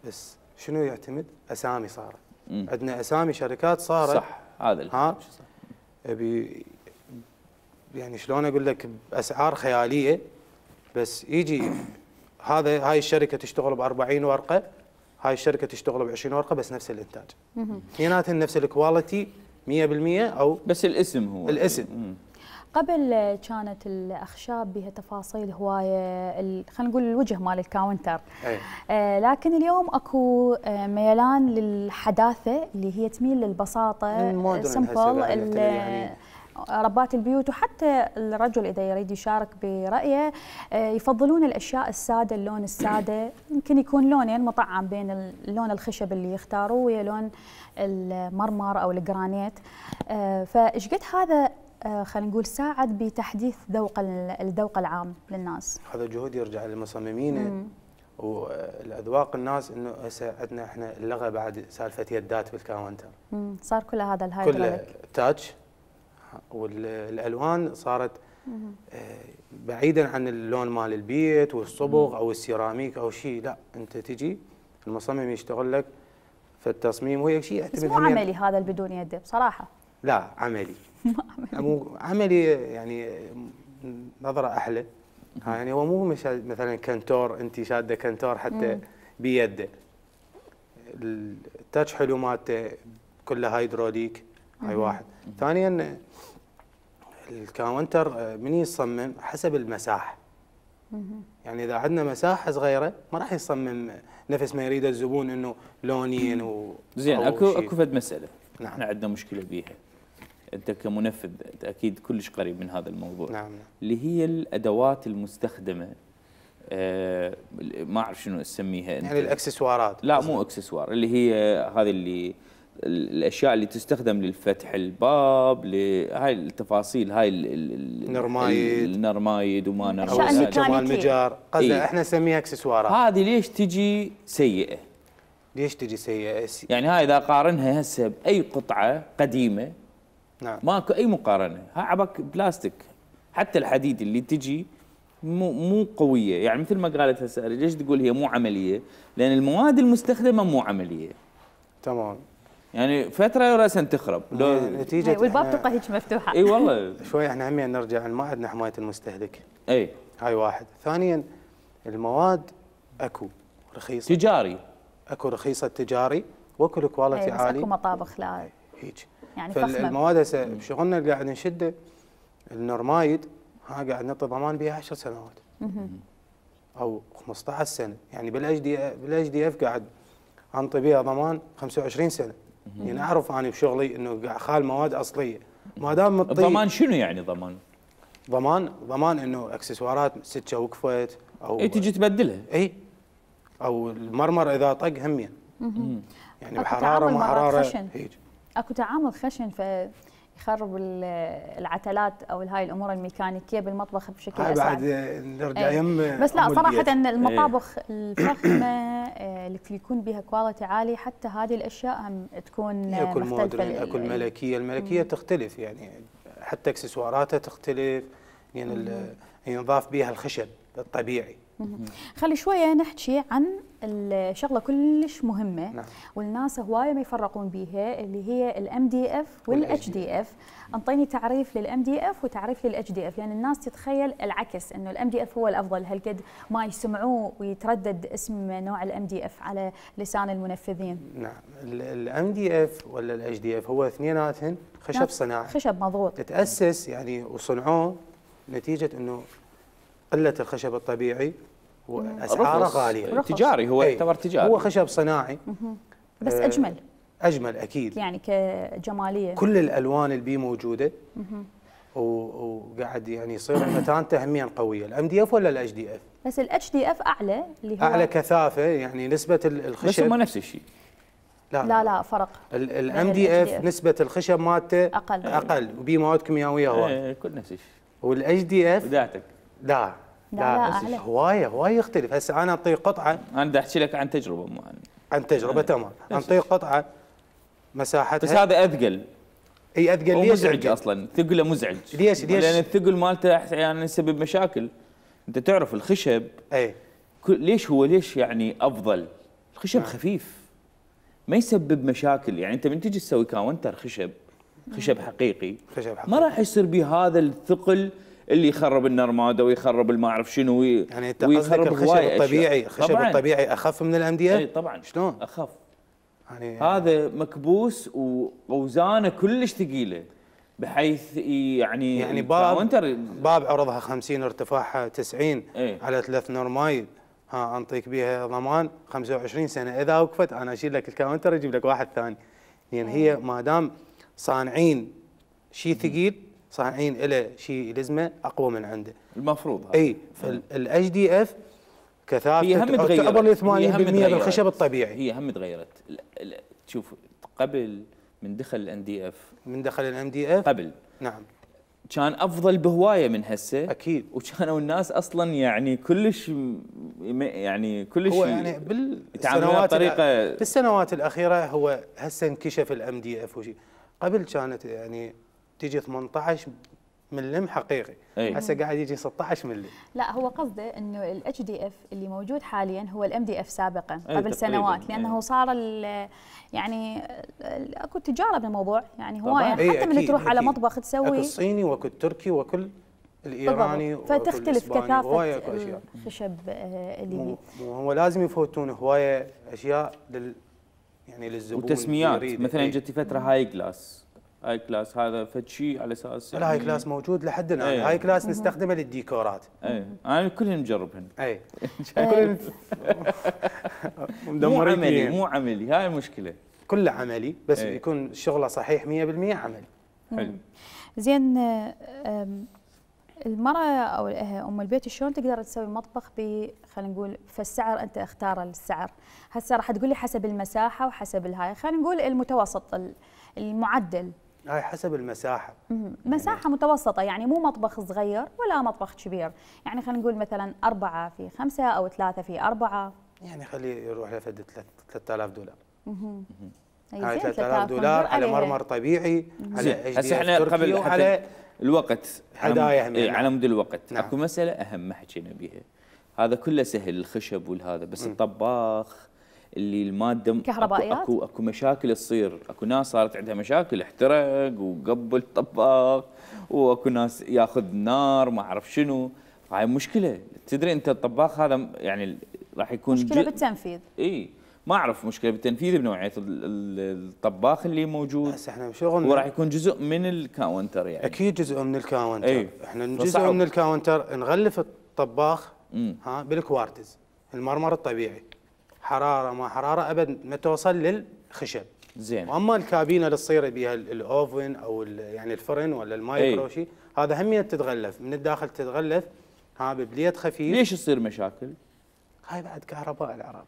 بس شنو يعتمد؟ اسامي صارت. عندنا اسامي شركات صارت صح. هذا يعني شلون اقول لك باسعار خياليه، بس يجي هاي الشركه تشتغل ب 40 ورقه، هاي الشركه تشتغل ب 20 ورقه، بس نفس الانتاج. اثنيناتهم نفس الكواليتي 100% او بس الاسم هو الاسم. قبل كانت الاخشاب بها تفاصيل هوايه، خلينا نقول الوجه مال الكاونتر، لكن اليوم اكو ميلان للحداثه اللي هي تميل للبساطه، سمبل، ربات البيوت وحتى الرجل اذا يريد يشارك برايه يفضلون الاشياء الساده، اللون الساده، يمكن يكون لونين مطعم بين اللون الخشب اللي يختاروه ويا لون المرمر او الجرانيت. فايش قد هذا خلينا نقول ساعد بتحديث الذوق العام للناس؟ هذا جهد يرجع للمصممين والاذواق الناس، انه هسه عندنا احنا اللغه بعد سالفه يدات بالكاونتر. صار كل هذا الهايدروليك كله تاتش، والالوان صارت بعيدا عن اللون مال البيت والصبغ او السيراميك او شيء، لا انت تجي المصمم يشتغل لك في التصميم، وهي شيء يعتمد بس مو عملي هذا بدون يد بصراحه. لا عملي. عملي يعني نظره احلى. يعني هو مو مثلا كنتور انت شاده كنتور حتى بيده. التاتش حلو مالته كله هيدروليك، هاي واحد. ثانيا الكاونتر من يصمم حسب المساحه. يعني اذا عندنا مساحه صغيره ما راح يصمم نفس ما يريد الزبون انه لونين زين. اكو فد مساله نعم. احنا عندنا مشكله بيها، انت كمنفذ انت اكيد كلش قريب من هذا الموضوع. نعم. اللي هي الادوات المستخدمه، ما اعرف شنو اسميها انت. يعني الاكسسوارات. لا مو اكسسوار، اللي هي هذه اللي الاشياء اللي تستخدم للفتح الباب، لهاي التفاصيل، هاي النرمايد وما نرمايد، الاشياء الميكانيكيه المجار، قصدي احنا نسميها اكسسوارات. هذه ليش تجي سيئه؟ ليش تجي سيئه؟ يعني هاي اذا قارنها هسه باي قطعه قديمه نعم ماكو اي مقارنه، هاي عبك بلاستيك، حتى الحديد اللي تجي مو قويه. يعني مثل ما قالت هسه ليش تقول هي مو عمليه؟ لان المواد المستخدمه مو عمليه. تمام. يعني فتره راسا تخرب نتيجه والباب تبقى هيك مفتوحه. اي والله. شوي احنا همين نرجع ما عندنا حمايه المستهلك. اي هاي واحد. ثانيا المواد اكو رخيصه تجاري، اكو رخيصه تجاري، واكو الكواليتي عالي، اكو مطابخ لا هيك يعني فخمه. فالمواد هسه بشغلنا اللي قاعد نشده النورمايد، ها قاعد نعطي ضمان بها 10 سنوات او 15 سنه. يعني بالاتش دي اف قاعد انطي بها ضمان 25 سنه. يعني اعرف انا بشغلي انه قاعد خال مواد اصليه، ما دام مطي. الضمان شنو يعني ضمان؟ ضمان انه اكسسوارات سكه وقفت او اي تجي تبدلها. اي او المرمر اذا طق همين. يعني أكو بحراره تعامل ما مرات حراره خشن. هيك. اكو تعامل خشن فيخرب العتلات او هاي الامور الميكانيكيه بالمطبخ بشكل هاي اسرع. بعد نرجع يم بس لا صراحه البيت. المطابخ الفخمه اللي يكون بها كواليتي عالي، حتى هذه الاشياء هم تكون اكو مختلفه. المودرن، اكو الملكيه تختلف، يعني حتى اكسسواراتها تختلف، يعني ينضاف بها الخشب الطبيعي. خلي شويه نحكي عن الشغله كلش مهمه. نعم. والناس هوايه ما يفرقون بيها، اللي هي الام دي اف والاتش دي اف. انطيني تعريف للام دي اف وتعريف للاتش دي اف، لان الناس تتخيل العكس، انه الام دي اف هو الافضل، هالقد ما يسمعوه ويتردد اسم نوع الام دي اف على لسان المنفذين. نعم. الام دي اف ولا الاتش دي اف هو اثنيناتهم خشب صناعي، خشب مضغوط، تتاسس يعني وصنعوه نتيجه انه قله الخشب الطبيعي واسعاره غاليه. تجاري، هو يعتبر تجاري، هو خشب صناعي بس اجمل اكيد، يعني كجماليه. كل الالوان اللي بيه موجوده وقاعد يعني يصير متانته هميا قويه. الام دي اف ولا الاتش دي اف؟ بس الاتش دي اف اعلى، اللي هو اعلى كثافه، يعني نسبه الخشب بس هم نفس الشيء. لا فرق. الام دي اف نسبه الخشب مالته اقل وبيه مواد كيميائيه هواي. كل نفس الشيء. والاتش دي اف بدايتك لا هوايه يختلف. هسه انا اعطيك قطعه، انا بدي احكي لك عن تجربه عن تجربه تمام. اعطيك قطعه مساحتها، بس هذا اثقل. اي اثقل. ليش مزعج اصلا؟ ثقله مزعج. ليش؟ لان الثقل مالته احيانا يسبب مشاكل. انت تعرف الخشب ليش يعني افضل؟ الخشب خفيف ما يسبب مشاكل. يعني انت من تجي تسوي كاونتر خشب حقيقي ما راح يصير به هذا الثقل اللي يخرب النرماده ويخرب ما اعرف شنو يعني انت قصدك الخشب الطبيعي، الخشب الطبيعي اخف من الام دي اف؟ اي طبعا. شلون اخف؟ يعني هذا مكبوس واوزانه كلش ثقيله، بحيث يعني باب عرضها 50 ارتفاعها 90 على 3 نورمايد، ها انطيك بيها ضمان 25 سنه. اذا وقفت انا اشيل لك الكاونتر اجيب لك واحد ثاني. يعني هي ما دام صانعين شيء ثقيل صانعين له شيء يلزمه اقوى من عنده. المفروض هذا. اي فالاتش دي اف هي هم كثافته تعتبر 80% بالخشب الطبيعي. هي هم تغيرت. شوف قبل من دخل الان دي اف، من دخل الام دي اف قبل نعم كان افضل بهوايه من هسه اكيد، وكانوا الناس اصلا يعني كلش هو يعني بالسنوات الاخيره هو هسه انكشف الام دي اف وشي. قبل كانت يعني تيجي 18 ملم حقيقي، هسه قاعد يجي 16 ملم. لا هو قصده انه الاتش دي اف اللي موجود حاليا هو الام دي اف سابقا قبل سنوات، لانه صار يعني اكو تجاره بالموضوع، يعني هوايه حتى من تروح على مطبخ تسوي اكو الصيني واكو التركي وكل الايراني فتختلف كثافه الخشب اللي هو لازم يفوتون هوايه اشياء يعني للزبون وتسميات. مثلا جت فتره هاي كلاس هذا فد شيء على اساس الهاي كلاس موجود لحد الان. هاي كلاس نستخدمه للديكورات. انا كلهم مجربهن. كلهم مو عملي هاي المشكله. كله عملي بس يكون شغله صحيح 100% عملي. حلو. زين المرأة او ام البيت شلون تقدر تسوي مطبخ خلينا نقول فالسعر انت اختار السعر؟ هسه راح تقول لي حسب المساحه وحسب الهاي، خلينا نقول المتوسط المعدل. هاي حسب المساحه. مساحه متوسطه، يعني مو مطبخ صغير ولا مطبخ كبير، يعني خلينا نقول مثلا 4 في 5 او 3 في 4. يعني خليه يروح لفد $3000. هاي $3000 على مرمر طبيعي، على هسه احنا قبل على الوقت هدايا على مود الوقت. اكو مساله اهم ما حكينا بيها، هذا كله سهل الخشب والهذا، بس الطباخ اللي الماده كهربائيات اكو مشاكل تصير. اكو ناس صارت عندها مشاكل، احترق وقبل الطباخ، واكو ناس ياخذ نار ما اعرف شنو. هاي مشكله. تدري انت الطباخ هذا يعني راح يكون مشكله بالتنفيذ. ما اعرف مشكله بالتنفيذ بنوعيه الطباخ اللي موجود. بس احنا شغلنا وراح يكون جزء من الكاونتر يعني. اكيد جزء من الكاونتر. احنا جزء من الكاونتر نغلف الطباخ بالكوارتز، المرمر الطبيعي، حراره ما حراره ابد ما توصل للخشب. زين. واما الكابينه اللي تصير بها الاوفن او يعني الفرن ولا المايكرو شيء، هذا هم تتغلف من الداخل، تتغلف ببليت خفيف. ليش تصير مشاكل؟ هاي بعد كهرباء العراق.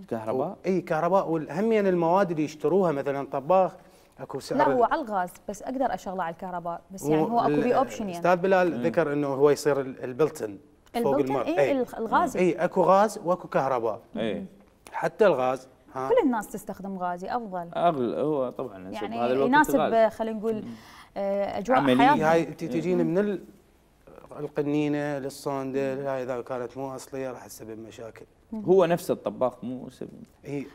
كهرباء؟ اي كهرباء. والهم يعني المواد اللي يشتروها مثلا طباخ اكو سعر. لا هو على الغاز بس اقدر اشغله على الكهرباء، بس يعني هو اكو بي اوبشن. يعني استاذ بلال ذكر انه هو يصير البلتن فوق الماء. الغازي. اكو غاز واكو كهرباء. حتى الغاز كل الناس تستخدم غازي افضل. هو طبعا يعني هذا الوقت يناسب خلينا نقول اجواء حياتنا. هاي تجينا من القنينه للصوندل، هاي اذا كانت مو اصليه راح تسبب مشاكل. هو نفس الطباخ مو سبب.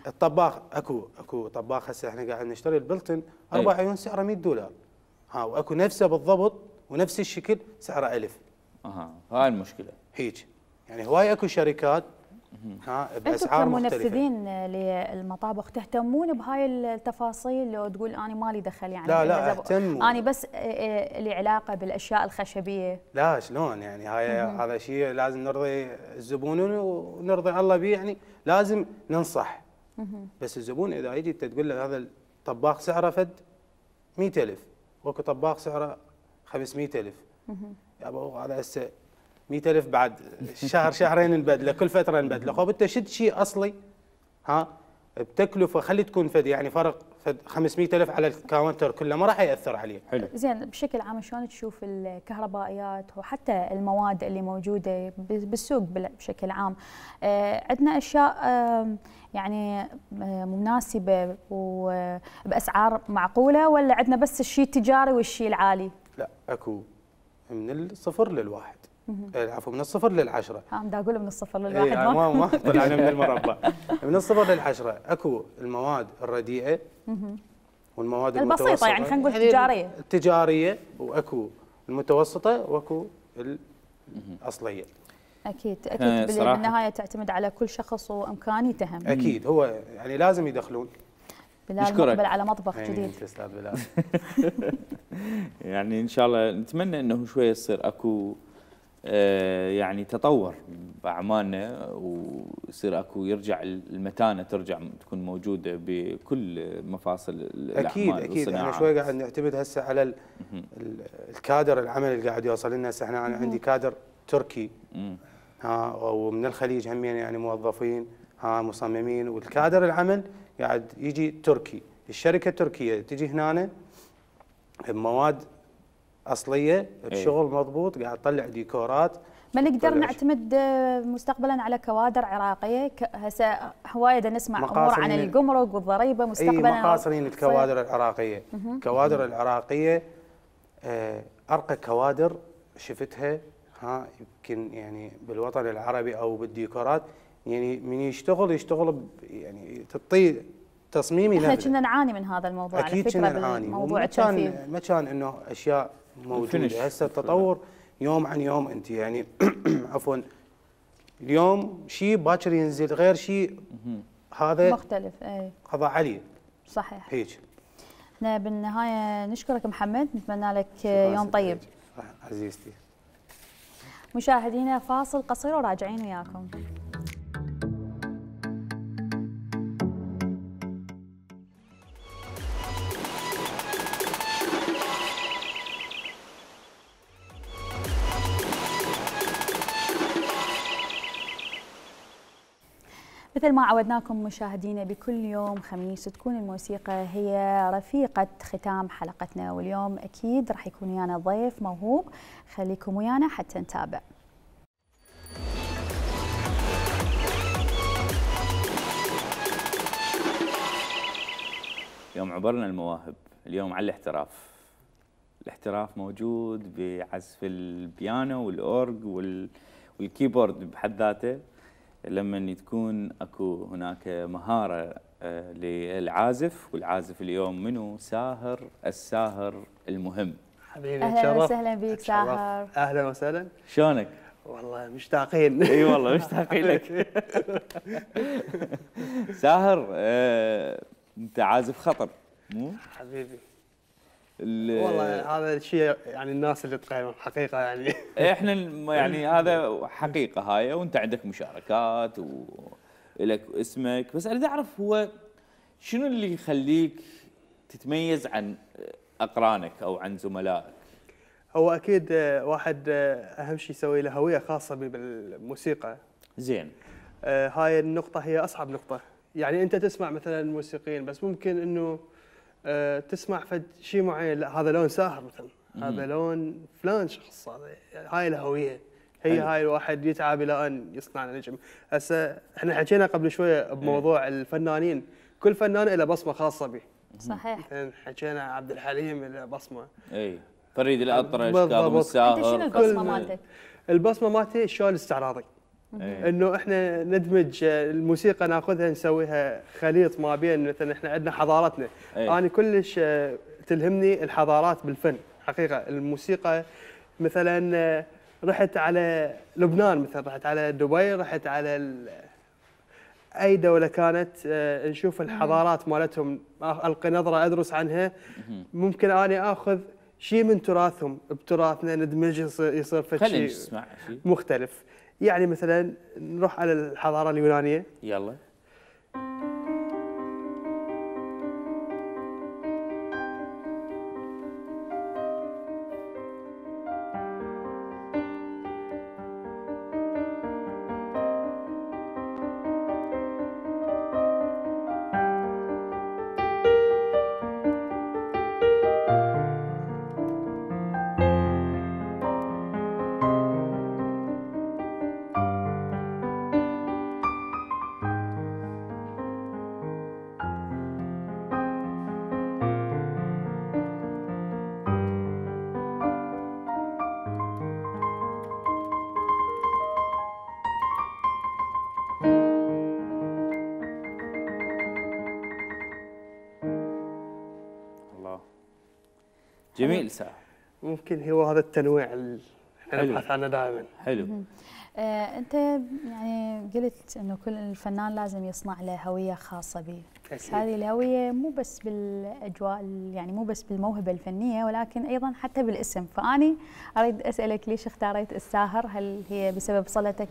الطباخ اكو طباخ هسه احنا قاعد نشتري البلتن 4 عيون سعره $100. واكو نفسه بالضبط ونفس الشكل سعره 1000. هاي المشكله. هيك يعني هواي اكو شركات باسعار مختلفه. انتم كمنفذين للمطابخ تهتمون بهاي التفاصيل؟ لو تقول انا مالي دخل يعني لا اهتم. انا بس لي علاقه بالاشياء الخشبيه. لا شلون يعني هذا شيء لازم نرضي الزبون ونرضي الله به، يعني لازم ننصح. بس الزبون اذا يجي تقول له هذا الطباخ سعره فد 100,000 واكو طباخ سعره 500,000، يابا هذا هسه 100,000 بعد شهرين نبدله، كل فتره نبدله. خب انت شد شيء اصلي بتكلفه، خلي تكون فد يعني فرق فد 500,000 على الكاونتر كله ما راح ياثر عليه. حلو. زين بشكل عام شلون تشوف الكهربائيات وحتى المواد اللي موجوده بالسوق بشكل عام؟ عندنا اشياء يعني مناسبه وباسعار معقوله، ولا عندنا بس الشيء التجاري والشيء العالي؟ لا اكو من الصفر للواحد. عفوا من الصفر للعشرة. دا اقول من الصفر للواحد. ما طلعنا من المربع. من الصفر للعشرة اكو المواد الرديئة والمواد المتوسطة البسيطة، يعني خلينا نقول التجارية. التجارية، واكو المتوسطة واكو الأصلية. اكيد بالنهاية تعتمد على كل شخص وامكانيته هم. اكيد هو يعني لازم يدخلون. بلال مقبل على مطبخ جديد. استاذ بلال. يعني ان شاء الله نتمنى انه شويه يصير اكو يعني تطور باعمالنا ويصير اكو يرجع المتانه ترجع تكون موجوده بكل مفاصل الاعمال اكيد احنا شوي قاعد نعتمد هسه على الكادر العمل اللي قاعد يوصل لنا هسه. احنا انا عندي كادر تركي ومن الخليج همين يعني موظفين مصممين، والكادر العمل قاعد يجي تركي. الشركه التركيه تجي هنا بمواد اصليه بشغل مضبوط، قاعد تطلع ديكورات. ما نقدر نعتمد مستقبلا على كوادر عراقيه؟ هسه هوايه نسمع امور عن الجمرك والضريبه مستقبلا. مقاصرين الكوادر العراقيه. الكوادر العراقيه ارقى كوادر شفتها يمكن يعني بالوطن العربي او بالديكورات. يعني من يشتغل يعني تعطيه تصميم ينفذ. احنا كنا نعاني من هذا الموضوع اكيد على فكره نعاني. بالموضوع التنفيذ. ما كان انه اشياء موجوده. هسه التطور يوم عن يوم. انت يعني عفوا اليوم شيء باكر ينزل غير شيء هذا مختلف. اي قضاء عليه. صحيح هيك. احنا بالنهايه نشكرك محمد، نتمنى لك يوم طيب. عزيزتي. مشاهدينا فاصل قصير وراجعين وياكم. مثل ما عودناكم مشاهدينا بكل يوم خميس تكون الموسيقى هي رفيقة ختام حلقتنا، واليوم أكيد راح يكون ويانا ضيف موهوب. خليكم ويانا حتى نتابع. يوم عبرنا المواهب، اليوم على الاحتراف. الاحتراف موجود بعزف البيانو والأورج والكيبورد بحد ذاته. لما تكون اكو هناك مهاره للعازف، والعازف اليوم منو؟ ساهر، الساهر المهم. حبيبي اهلا وسهلا بك ساهر. اهلا وسهلا. شلونك؟ والله مشتاقين. اي والله مشتاقين لك. ساهر انت عازف خطر مو؟ حبيبي والله هذا الشيء يعني الناس اللي تقيم حقيقه يعني. احنا يعني هذا حقيقه هاي، وانت عندك مشاركات ولك اسمك، بس اريد اعرف هو شنو اللي يخليك تتميز عن اقرانك او عن زملائك؟ هو اكيد واحد اهم شيء يسوي له هويه خاصه بالموسيقى. زين. هاي النقطه هي اصعب نقطه. يعني انت تسمع مثلا موسيقيين بس ممكن انه تسمع فد شيء معين، لا هذا لون ساهر مثلا، هذا لون فلان شخص، هذا هاي الهويه هي هاي الواحد يتعب الى ان يصنع نجم. هسه احنا حكينا قبل شويه بموضوع الفنانين، كل فنان له بصمه خاصه به. صحيح. حكينا عبد الحليم له بصمه. اي فريد الأطرش، كاظم الساهر. انت شنو البصمه مالتك؟ البصمه مالتي الشغل الاستعراضي. انه احنا ندمج الموسيقى، ناخذها نسويها خليط ما بين مثلا احنا عندنا حضارتنا. انا كلش تلهمني الحضارات بالفن حقيقه. الموسيقى مثلا رحت على لبنان، مثلا رحت على دبي، رحت على اي دوله كانت، نشوف الحضارات مالتهم، القي نظره ادرس عنها. ممكن اني اخذ شيء من تراثهم بتراثنا، ندمج يصير فد شيء مختلف. يعني مثلا نروح على الحضاره اليونانيه. يلا. جميل ساهر. ممكن هو هذا التنويع اللي احنا نبحث عنه دائما. حلو. انت يعني قلت انه كل فنان لازم يصنع له هويه خاصه به، بس هذه الهويه مو بس بالاجواء، يعني مو بس بالموهبه الفنيه ولكن ايضا حتى بالاسم. فاني اريد اسالك ليش اختاريت الساهر؟ هل هي بسبب صلتك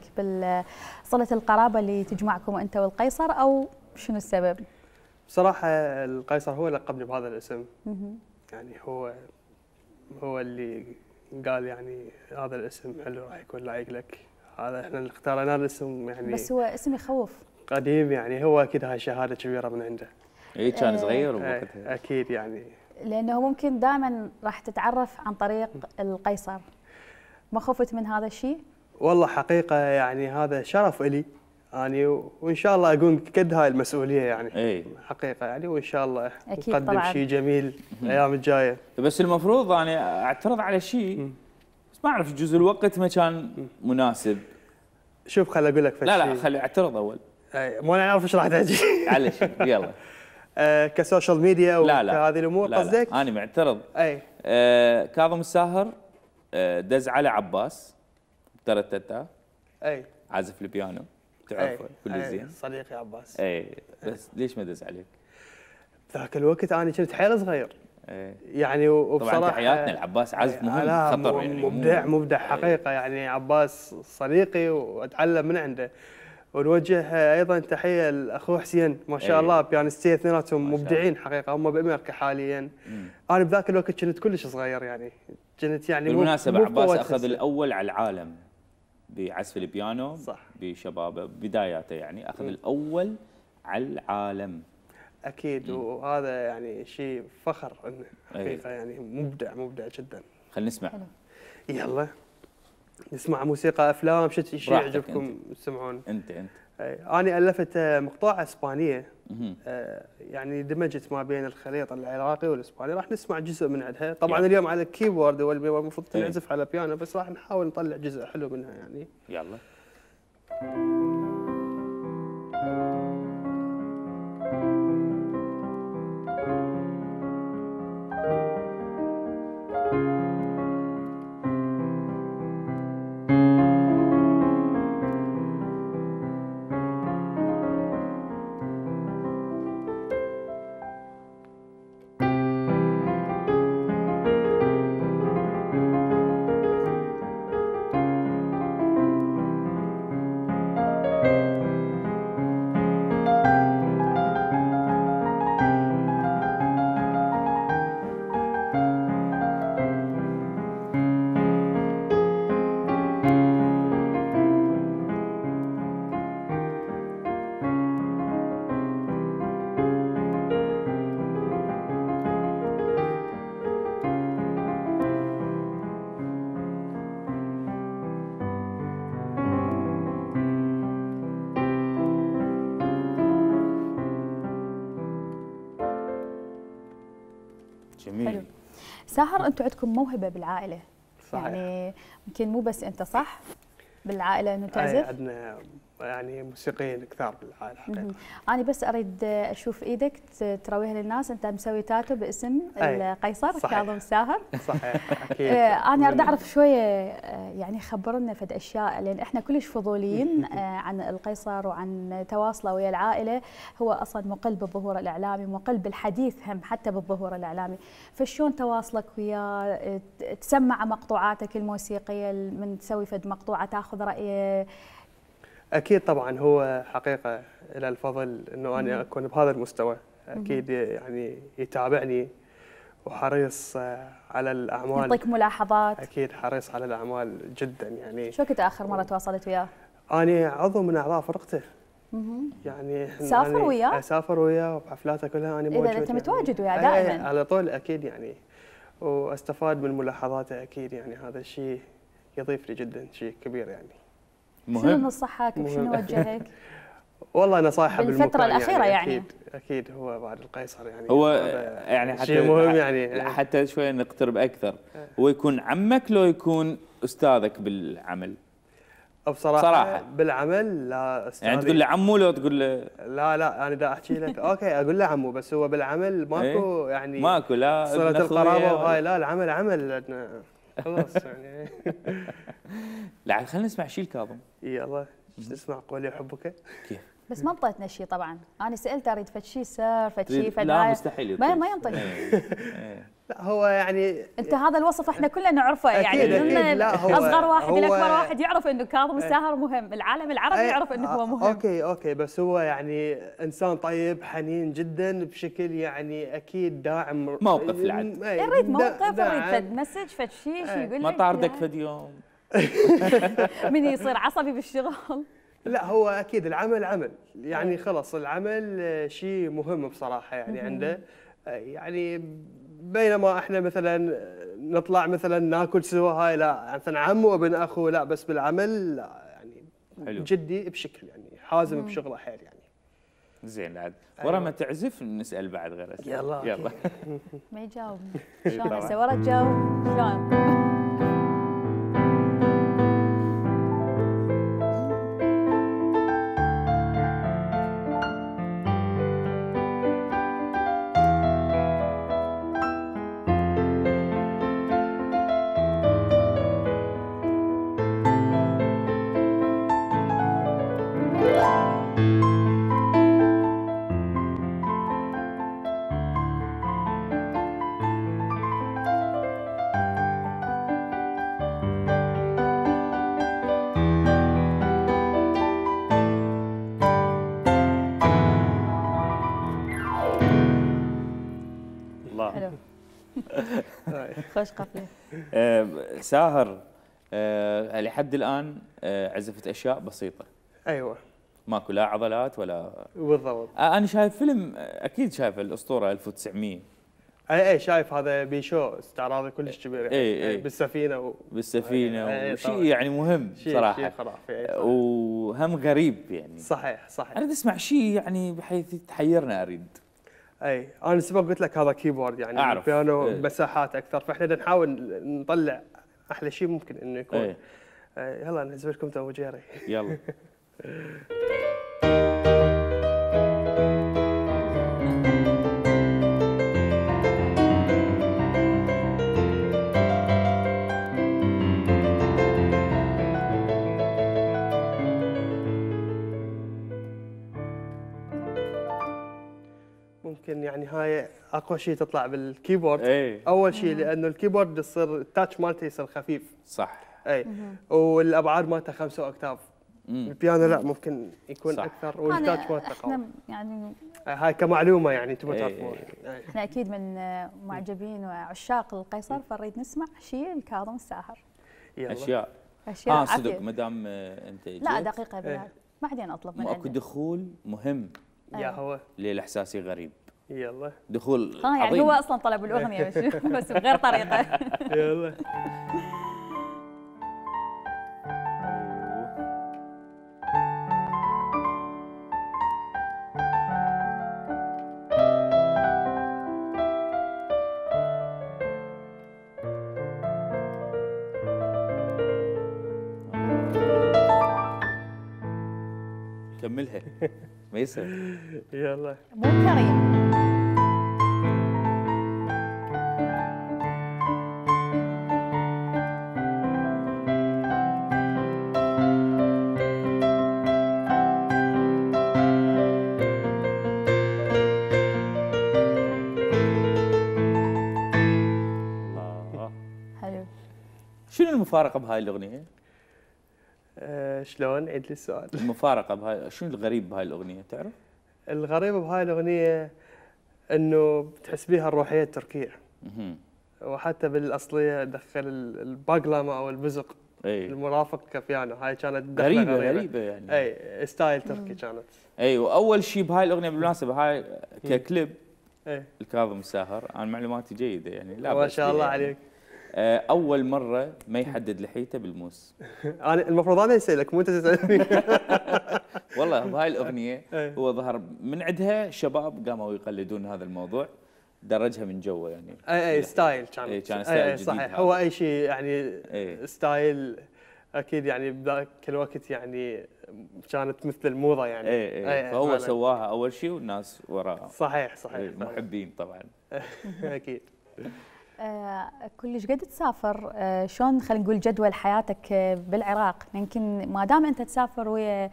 صله القرابه اللي تجمعكم انت والقيصر، او شنو السبب؟ بصراحه القيصر هو اللي لقبني بهذا الاسم. يعني هو اللي قال يعني هذا الاسم حلو راح يكون لايق لك. هذا احنا اللي اختارنا الاسم يعني، بس هو اسم يخوف قديم يعني. هو اكيد هاي شهاده كبيره من عنده. اي كان صغير بوقتها. اكيد يعني، لانه ممكن دائما راح تتعرف عن طريق القيصر. ما خفت من هذا الشيء؟ والله حقيقه يعني هذا شرف الي يعني، وان شاء الله اكون قد هاي المسؤوليه يعني. اي حقيقه يعني، وان شاء الله أكيد نقدم شيء جميل الايام الجايه. بس المفروض يعني اعترض على شيء، بس ما اعرف جزء الوقت ما كان مناسب. شوف خل اقول لك لا خلي اعترض اول. ما نعرف ايش راح تحكي. معلش يلا. كسوشيال ميديا وهذه الامور قصدك؟ انا معترض. اي كاظم الساهر دز على عباس ترتتا، اي عازف البيانو تعرفه كل زين، صديقي عباس. اي بس ليش ما دز عليك؟ ذاك الوقت انا كنت حيل صغير. يعني وبصراحه طبعا تحياتنا العباس عازف مهم خطر يعني مبدع حقيقه يعني. عباس صديقي واتعلم من عنده. ونوجه ايضا تحيه لاخوه حسين ما شاء الله، بيانستين اثنيناتهم مبدعين حقيقه، هم بامريكا حاليا. انا بذاك الوقت كنت كلش صغير يعني، كنت يعني بالمناسبه عباس اخذ الاول على العالم بعزف البيانو. صح. بشبابه بداياته يعني اخذ الاول على العالم. اكيد. وهذا يعني شيء فخر انه حقيقه يعني مبدع جدا. خلينا نسمع. يلا نسمع موسيقى افلام. شيء يعجبكم تسمعون؟ انت انا الفت مقطوعه اسبانيه يعني دمجت ما بين الخليط العراقي والاسباني. راح نسمع جزء من عندها. طبعا اليوم على الكيبورد والمفروض تنعزف على بيانو، بس راح نحاول نطلع جزء حلو منها يعني. يلا. جميل. حلو. ساهر انتم عندكم موهبه بالعائله. صحيح. يعني يمكن مو بس انت صح بالعائله انه تعزف؟ عندنا يعني موسيقيين كثار بالعائله حقيقه. انا بس اريد اشوف ايدك ترويها للناس. انت مسوي تاتو باسم القيصر كاظم الساهر. صحيح اكيد. انا اريد اعرف شويه يعني خبرنا فد اشياء، لان احنا كلش فضوليين عن القيصر وعن تواصله ويا العائله. هو اصلا مقل بالظهور الاعلامي، مقل بالحديث هم حتى بالظهور الاعلامي. فشلون تواصلك وياه؟ تسمع مقطوعاتك الموسيقيه من تسوي فد مقطوعه تاخذ رايه؟ اكيد طبعا هو حقيقه له الفضل انه انا اكون بهذا المستوى. اكيد يعني يتابعني وحريص على الاعمال، يعطيك ملاحظات. اكيد حريص على الاعمال جدا يعني. شو كنت اخر مره تواصلت وياه؟ انا عضو من اعضاء فرقته. يعني سافر وياه؟ اسافر وياه وبحفلاته كلها انا موجود. اذا انت متواجد وياه دائما على طول اكيد يعني، واستفاد من ملاحظاته اكيد يعني. هذا الشيء يضيف لي جدا، شيء كبير يعني. شنو نصحك وشنو وجهك؟ والله نصائحه بالفترة الأخيرة يعني. أكيد هو بعد القيصر يعني. هو يعني حتى شيء مهم يعني. حتى شوي نقترب أكثر. هو يكون عمك لو يكون أستاذك بالعمل؟ بصراحة بالعمل لا أستاذي. يعني تقول له عمو لو تقول له؟ لا أنا دا أحكي لك أوكي أقول له عمو، بس هو بالعمل ماكو يعني ماكو لا صلة القرابة وهاي. لا العمل عمل. خلاص يعني. لا خلينا نسمع شيء الكاظم. يلا نسمع قولي احبك. كيف؟ بس ما انطيتنا شيء طبعا، انا سالت اريد فد شيء سر فد شيء فد لا هاي. مستحيل ما ينطي. لا هو يعني انت هذا الوصف احنا كلنا نعرفه يعني أكيد، من أكيد. لا، هو- اصغر واحد هو- الى اكبر واحد يعرف انه كاظم الساهر مهم، العالم العربي يعرف انه هو مهم. اوكي بس هو يعني انسان طيب حنين جدا بشكل يعني اكيد داعم. موقف العد. نريد موقف، نريد داعم. فد مسج فد شيء يقول لك ما طاردك لا. فد يوم؟ من يصير عصبي بالشغل. لا هو اكيد العمل عمل يعني خلص العمل شيء مهم بصراحه يعني عنده يعني بينما احنا مثلا نطلع مثلا ناكل سوا هاي لا مثلا عمو وابن اخو لا بس بالعمل لا يعني حلو. جدي بشكل يعني حازم بشغله حيل يعني. زين عاد ورا ما تعزف نسال بعد غير اسئله. يلا، أوكي. يلا. ما يجاوبني إي شلون طبعاً. هسه ورا تجاوب شلون؟ الله. حلو. خوش قفله. ساهر لحد الان عزفت اشياء بسيطه، ايوه ماكو لا عضلات ولا. بالضبط. انا شايف فيلم، اكيد شايف الاسطوره 1900 اي شايف هذا بيشو استعراضي كلش كبير يعني. إي. بالسفينه بالسفينه أي، وشيء طبعاً. يعني مهم شيء صراحه. خرافي أي صح. وهم غريب يعني. صحيح اريد اسمع شيء يعني بحيث تحيرنا اريد. اي انا سبق قلت لك هذا كيبورد يعني أعرف. البيانو إيه. مساحات اكثر فاحنا بدنا نحاول نطلع احلى شيء ممكن انه يكون. إيه. يلا نعزف لكم تو جيري. يلا. ممكن يعني هاي اقوى شيء تطلع بالكيبورد. إيه. اول شيء لانه الكيبورد يصير التاتش مالته يصير خفيف. صح. اي والابعاد مالته 5 اوكتاف. البيانو لا ممكن يكون صح. اكثر والتاتش مالته قوي. احنا يعني هاي كمعلومه يعني تبغى إيه. تعرفوها. إيه. احنا اكيد من معجبين وعشاق القيصر، فنريد نسمع شيء الكاظم الساهر. يلا. اشياء. اشياء صدق عافية. ما دام انت لا جيت، دقيقه بعد بعدين اطلب من ماكو عندك. دخول مهم يا هو للاحساسي غريب. يلا دخول يعني عظيم. هو اصلا طلب الاغنيه بس بغير طريقه. يلا. كملها. ما يصير. يلا. مو كريم. الله. حلو. شنو المفارقه بهاي الاغنيه؟ شلون عيد لي السؤال؟ المفارقه بهاي، شنو الغريب بهاي الاغنيه تعرف؟ الغريب بهاي الاغنيه انه تحس بيها الروحيه التركيه. مهم. وحتى بالاصليه دخل الباقلمه او البزق اي المرافق كبيانو. هاي كانت دخلة غريبه يعني. اي ستايل تركي كانت. اي واول شيء بهاي الاغنيه بالمناسبه هاي ككليب اي الكاظم الساهر، انا معلوماتي جيده يعني لا ما بأس شاء فيها الله يعني. عليك. اول مره ما يحدد لحيته بالموس. انا المفروض انا اسالك مو انت تسالني. والله بهاي الاغنيه إيه. هو ظهر من عندها شباب قاموا يقلدون هذا الموضوع، درجها من جوا يعني. اي ستايل كانت. إي، كان ستايل جديد صحيح. هذا. هو اي شيء يعني إي. ستايل اكيد يعني بذاك الوقت يعني كانت مثل الموضه يعني. اي فهو فعلاً. سواها اول شيء والناس وراه. صحيح إي، محبين طبعا. اكيد. كلش قد تسافر، شلون خلينا نقول جدول حياتك بالعراق؟ يمكن ما دام انت تسافر ويا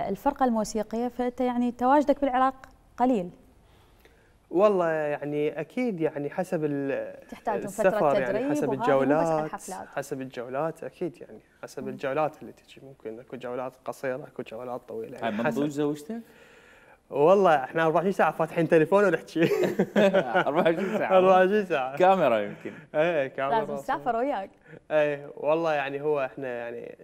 الفرقه الموسيقيه فانت يعني تواجدك بالعراق قليل. والله يعني اكيد يعني حسب تحتاجون السفر فتره يعني تدريب حسب وهذه الجولات، الحفلات. حسب الجولات اكيد يعني حسب الجولات اللي تجي، ممكن اكو جولات قصيره اكو جولات طويله هاي يعني منضوج زوجتك؟ والله احنا 24 ساعه فاتحين تليفون ونحكي 24 ساعه 24 ساعه كاميرا يمكن. ايه كاميرا لازم تسافر وياك. ايه والله يعني هو احنا يعني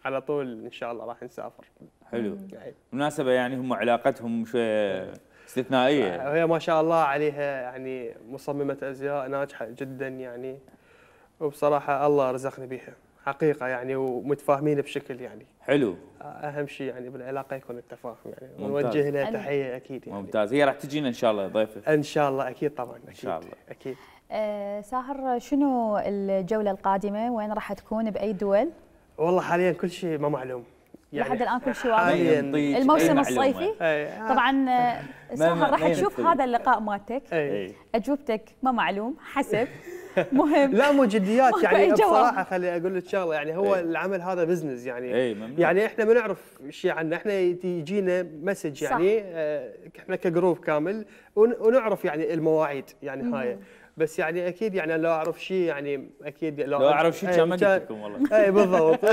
على طول ان شاء الله راح نسافر. حلو. يعني بالمناسبه يعني هم علاقتهم شويه استثنائيه. هي ما شاء الله عليها يعني مصممه ازياء ناجحه جدا يعني، وبصراحه الله رزقني بيها حقيقه يعني، ومتفاهمين بشكل يعني حلو. اهم شيء يعني بالعلاقه يكون التفاهم يعني، ممتاز. ونوجه لها تحيه اكيد يعني. ممتاز. هي راح تجينا ان شاء الله ضيفه. ان شاء الله اكيد طبعا اكيد ان شاء الله. اكيد. ساهر، شنو الجوله القادمه؟ وين راح تكون؟ باي دول؟ والله حاليا كل شيء ما معلوم يعني لحد الان كل شيء حالياً واضح. الموسم الصيفي طبعا. ساهر راح تشوف هذا اللقاء مالتك، اجوبتك ما معلوم حسب مهم. لا مو جديات ماكو يعني أي جواب. بصراحه خلي اقول لك شغله يعني هو العمل هذا بزنس يعني. يعني احنا ما نعرف شيء عنه، احنا يجينا مسج يعني احنا كجروب كامل ونعرف يعني المواعيد يعني هاي، بس يعني اكيد يعني لو اعرف شيء يعني اكيد لو اعرف شيء كان ما قلت لكم والله. اي بالضبط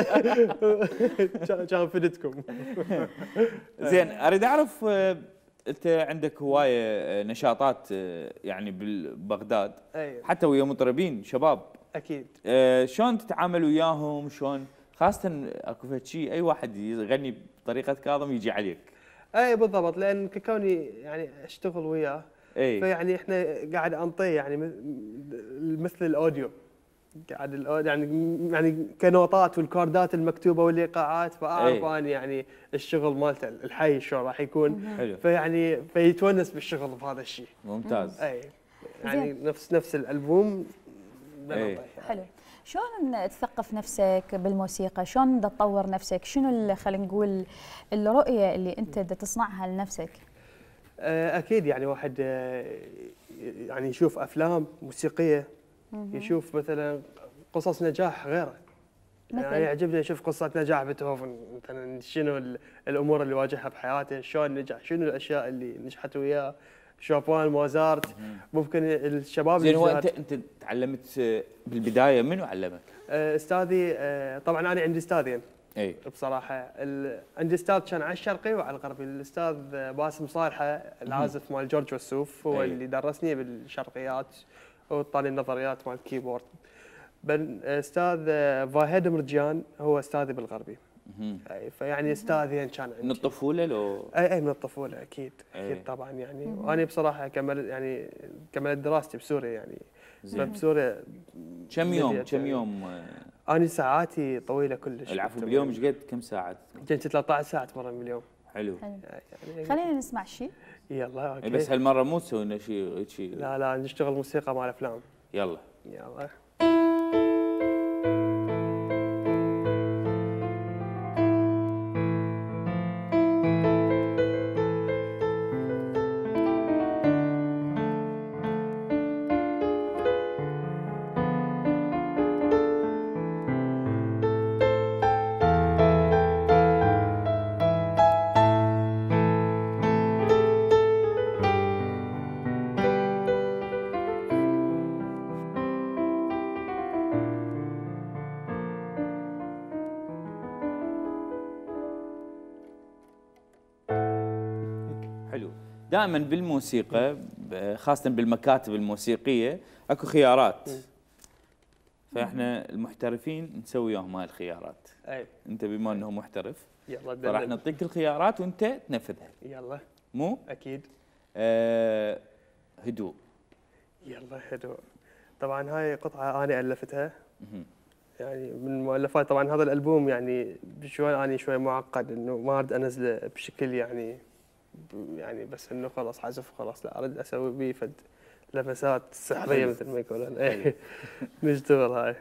كان فدتكم. زين اريد اعرف انت عندك هوايه نشاطات يعني ببغداد حتى ويا مطربين شباب اكيد. شلون تتعامل وياهم؟ شلون خاصه اكو فد شيء اي واحد يغني بطريقه كاظم يجي عليك؟ اي بالضبط، لان كوني يعني اشتغل وياه فيعني احنا قاعد انطيه يعني مثل الاوديو، قاعد يعني كنوتات والكوردات المكتوبه والايقاعات، فاعرف انا يعني الشغل مالته الحي شلون راح يكون. حلو. فيعني فيتونس بالشغل بهذا الشيء. ممتاز. اي يعني نفس الالبوم. حلو. شلون تثقف نفسك بالموسيقى؟ شلون تطور نفسك؟ شنو خلينا نقول الرؤيه اللي انت تصنعها لنفسك؟ اكيد يعني واحد يعني يشوف افلام موسيقيه، يشوف مثلا قصص نجاح غيره، يعني يعجبني اشوف قصه نجاح بيتهوفن مثلا، شنو الامور اللي واجهها بحياته، شلون نجح، شنو الاشياء اللي نجحت وياه، شوبان، موزارت. ممكن الشباب زين هو انت تعلمت بالبدايه منو علمك؟ استاذي طبعا انا عندي استاذين. اي بصراحه عندي استاذ كان على الشرقي وعلى الغربي، الاستاذ باسم صالحه العازف مال جورج وسوف هو اللي درسني بالشرقيات وطاني النظريات مال الكيبورد. استاذ فاهد مرجان هو استاذي بالغربي. اي فيعني استاذين كان عندي من الطفوله لو اي من الطفوله اكيد. اكيد طبعا يعني. وانا بصراحه كملت دراستي بسوريا يعني. بسوريا كم يوم؟ أنا ساعاتي طويلة كلش. العفو باليوم ايش قد كم ساعة؟ كنت 13 ساعة اتمرن باليوم. حلو. يعني خلينا نسمع شيء. يلا اوكي. بس هالمرة مو تسوي لنا شيء لا نشتغل موسيقى مال افلام. يلا. دائما بالموسيقى خاصة بالمكاتب الموسيقية اكو خيارات، فاحنا المحترفين نسوي وياهم هاي الخيارات. انت بما انه محترف يلا راح نعطيك الخيارات وانت تنفذها. يلا مو؟ اكيد. هدوء. يلا هدوء. طبعا هاي قطعة انا الفتها. يعني من المؤلفات. طبعا هذا الالبوم يعني شوي معقد، انه ما اريد انزله بشكل يعني بس انه خلاص عزف خلاص، لا اريد اسوي بيه فد لمسات سحريه مثل ما يقولون. نشتغل هاي.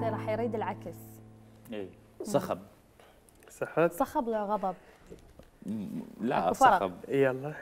راح يريد العكس. اي صخب. صحت؟ صخب ولا غضب؟ لا أكو فرق. صخب. يلا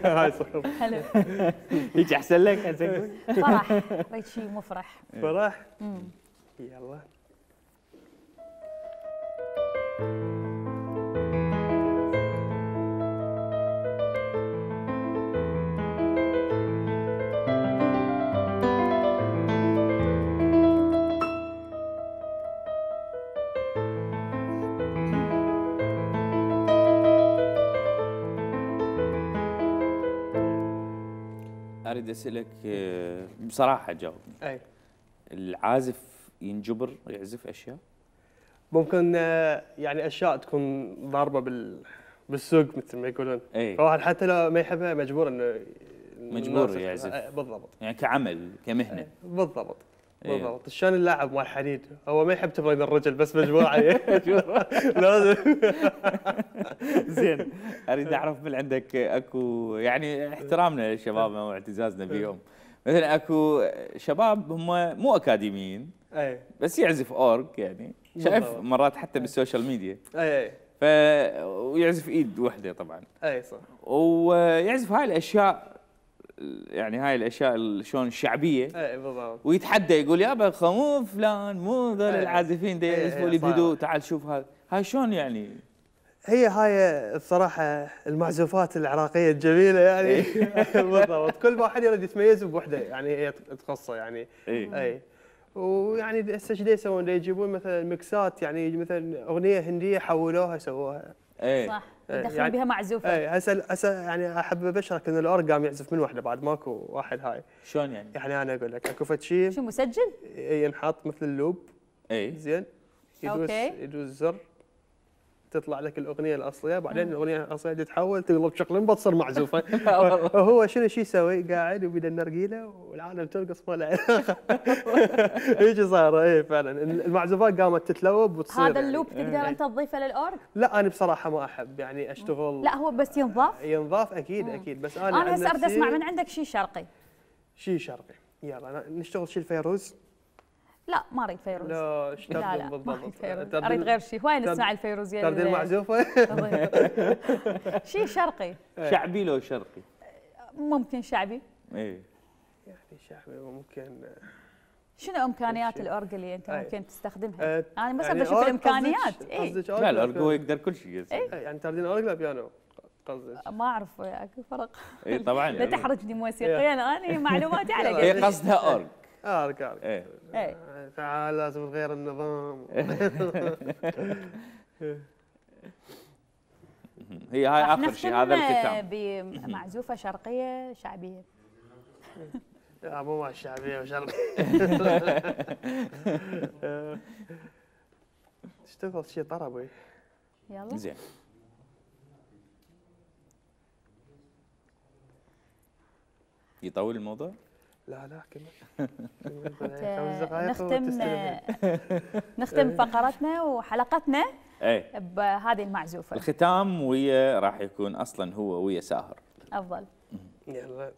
هاي صخب. حلو. هيك احسن لك هسه. فرح، اريد شيء مفرح. فرح؟ يلا اريد اسالك بصراحه جاوبني. اي العازف ينجبر يعزف اشياء؟ ممكن يعني اشياء تكون ضاربه بالسوق مثل ما يقولون. اي فواحد حتى لو ما يحبها مجبور انه مجبور يعزف. بالضبط. يعني كعمل كمهنه. بالضبط. إيه. بالضبط. شلون اللاعب مال حديد هو ما يحب تمرين الرجل بس مجبور عليه. لازم. زين اريد اعرف من عندك اكو يعني احترامنا لشبابنا واعتزازنا بهم، مثلا اكو شباب هم مو اكاديميين اي بس يعزف اورج يعني شايف بالضبط. مرات حتى بالسوشيال ميديا اي ف ويعزف ايد وحده طبعا اي صح. ويعزف هاي الاشياء يعني هاي الاشياء شلون الشعبيه اي بالضبط. ويتحدى يقول يابا مو فلان مو ذول إيه. العازفين دا إيه، يعزفوا لي إيه، صح. بهدوء تعال شوف هاي شلون يعني. هاي الصراحه المعزوفات العراقيه الجميله يعني. بالضبط. كل واحد يريد يتميز بوحده يعني هي تخصه يعني. اي اي ويعني هسه ايش يسوون؟ يجيبون مثلا ميكسات يعني مثلا اغنيه هنديه حولوها سووها. اي صح، إيه، يدخلون يعني- بها معزوفه. اي هسه يعني احب ابشرك ان الاورج قام يعزف من وحده بعد ماكو واحد هاي. شلون يعني؟ يعني انا اقول لك اكو فد شيء شو مسجل؟ ينحط مثل اللوب اي زين أوكي. يدوس زر تطلع لك الاغنيه الاصليه بعدين الاغنيه الاصليه تتحول تقلب شكل تصير معزوفه. وهو شنو شو يسوي؟ قاعد وبيد النرجيله والعالم ترقص ما هيك صار. اي فعلا المعزوفات قامت تتلوب وتصير هذا يعني. اللوب تقدر انت تضيفه للاورج؟ لا انا بصراحه ما احب يعني اشتغل. لا هو بس ينضاف. ينضاف اكيد اكيد بس انا انا عن هسه اريد نفسي اسمع من عندك شيء شرقي. شيء شرقي. يلا نشتغل شيء الفيروز. لا ما اريد فيروز. لا ايش لا تردد ما بالضبط؟ اريد فيروز، تردد- اريد غير شيء. هواي تردد- نسمع الفيروزيه. تردد المعزوفه. شيء شرقي شعبي لو شرقي؟ ممكن شعبي. اي يعني شعبي ممكن. شنو امكانيات الاورج اللي انت أي. ممكن تستخدمها؟ آه، انا بس يعني ابي اشوف أورج الامكانيات. قصدك- اي قصدك لا أورج الأورج هو ولا يقدر كل شيء بيانو؟ يعني تردين اورج لا بيانو قصدك؟ ما اعرف اكو فرق. اي طبعا لا تحرجني موسيقيا، انا معلوماتي على هي قد. قصدها اورج. اورج اورج. ايه اي تعال لازم نغير النظام. هي هاي راح اخر شيء هذا نختم الختام. بمعزوفه شرقيه شعبيه. لا مو مع الشعبيه وشرقي. تشتغل شيء طربي. يلا زين يطول الموضوع؟ لا لا كمل. نختم فقرتنا وحلقتنا ايه بهذه المعزوفه. الختام ويا راح يكون اصلا هو ويا ساهر. افضل. يلا.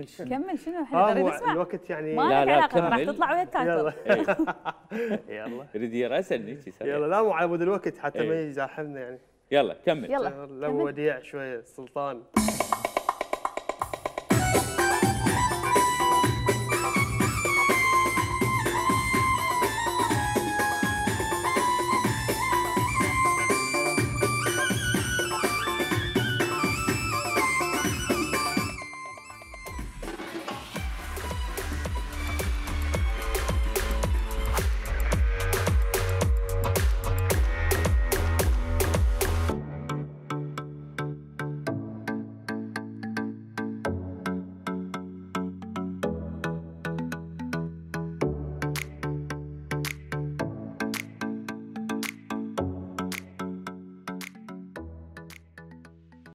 كمل شنو؟ كمل شنو احنا نريد نسمع. الوقت يعني ما لا، لك لا، علاقه راح كمل. تطلع ويا التايتل. يلا يريد يراسلني يلا لا مو على مود الوقت حتى ما إيه. يزاحمنا يعني. يلا كمل. يلا لو وديع شويه السلطان.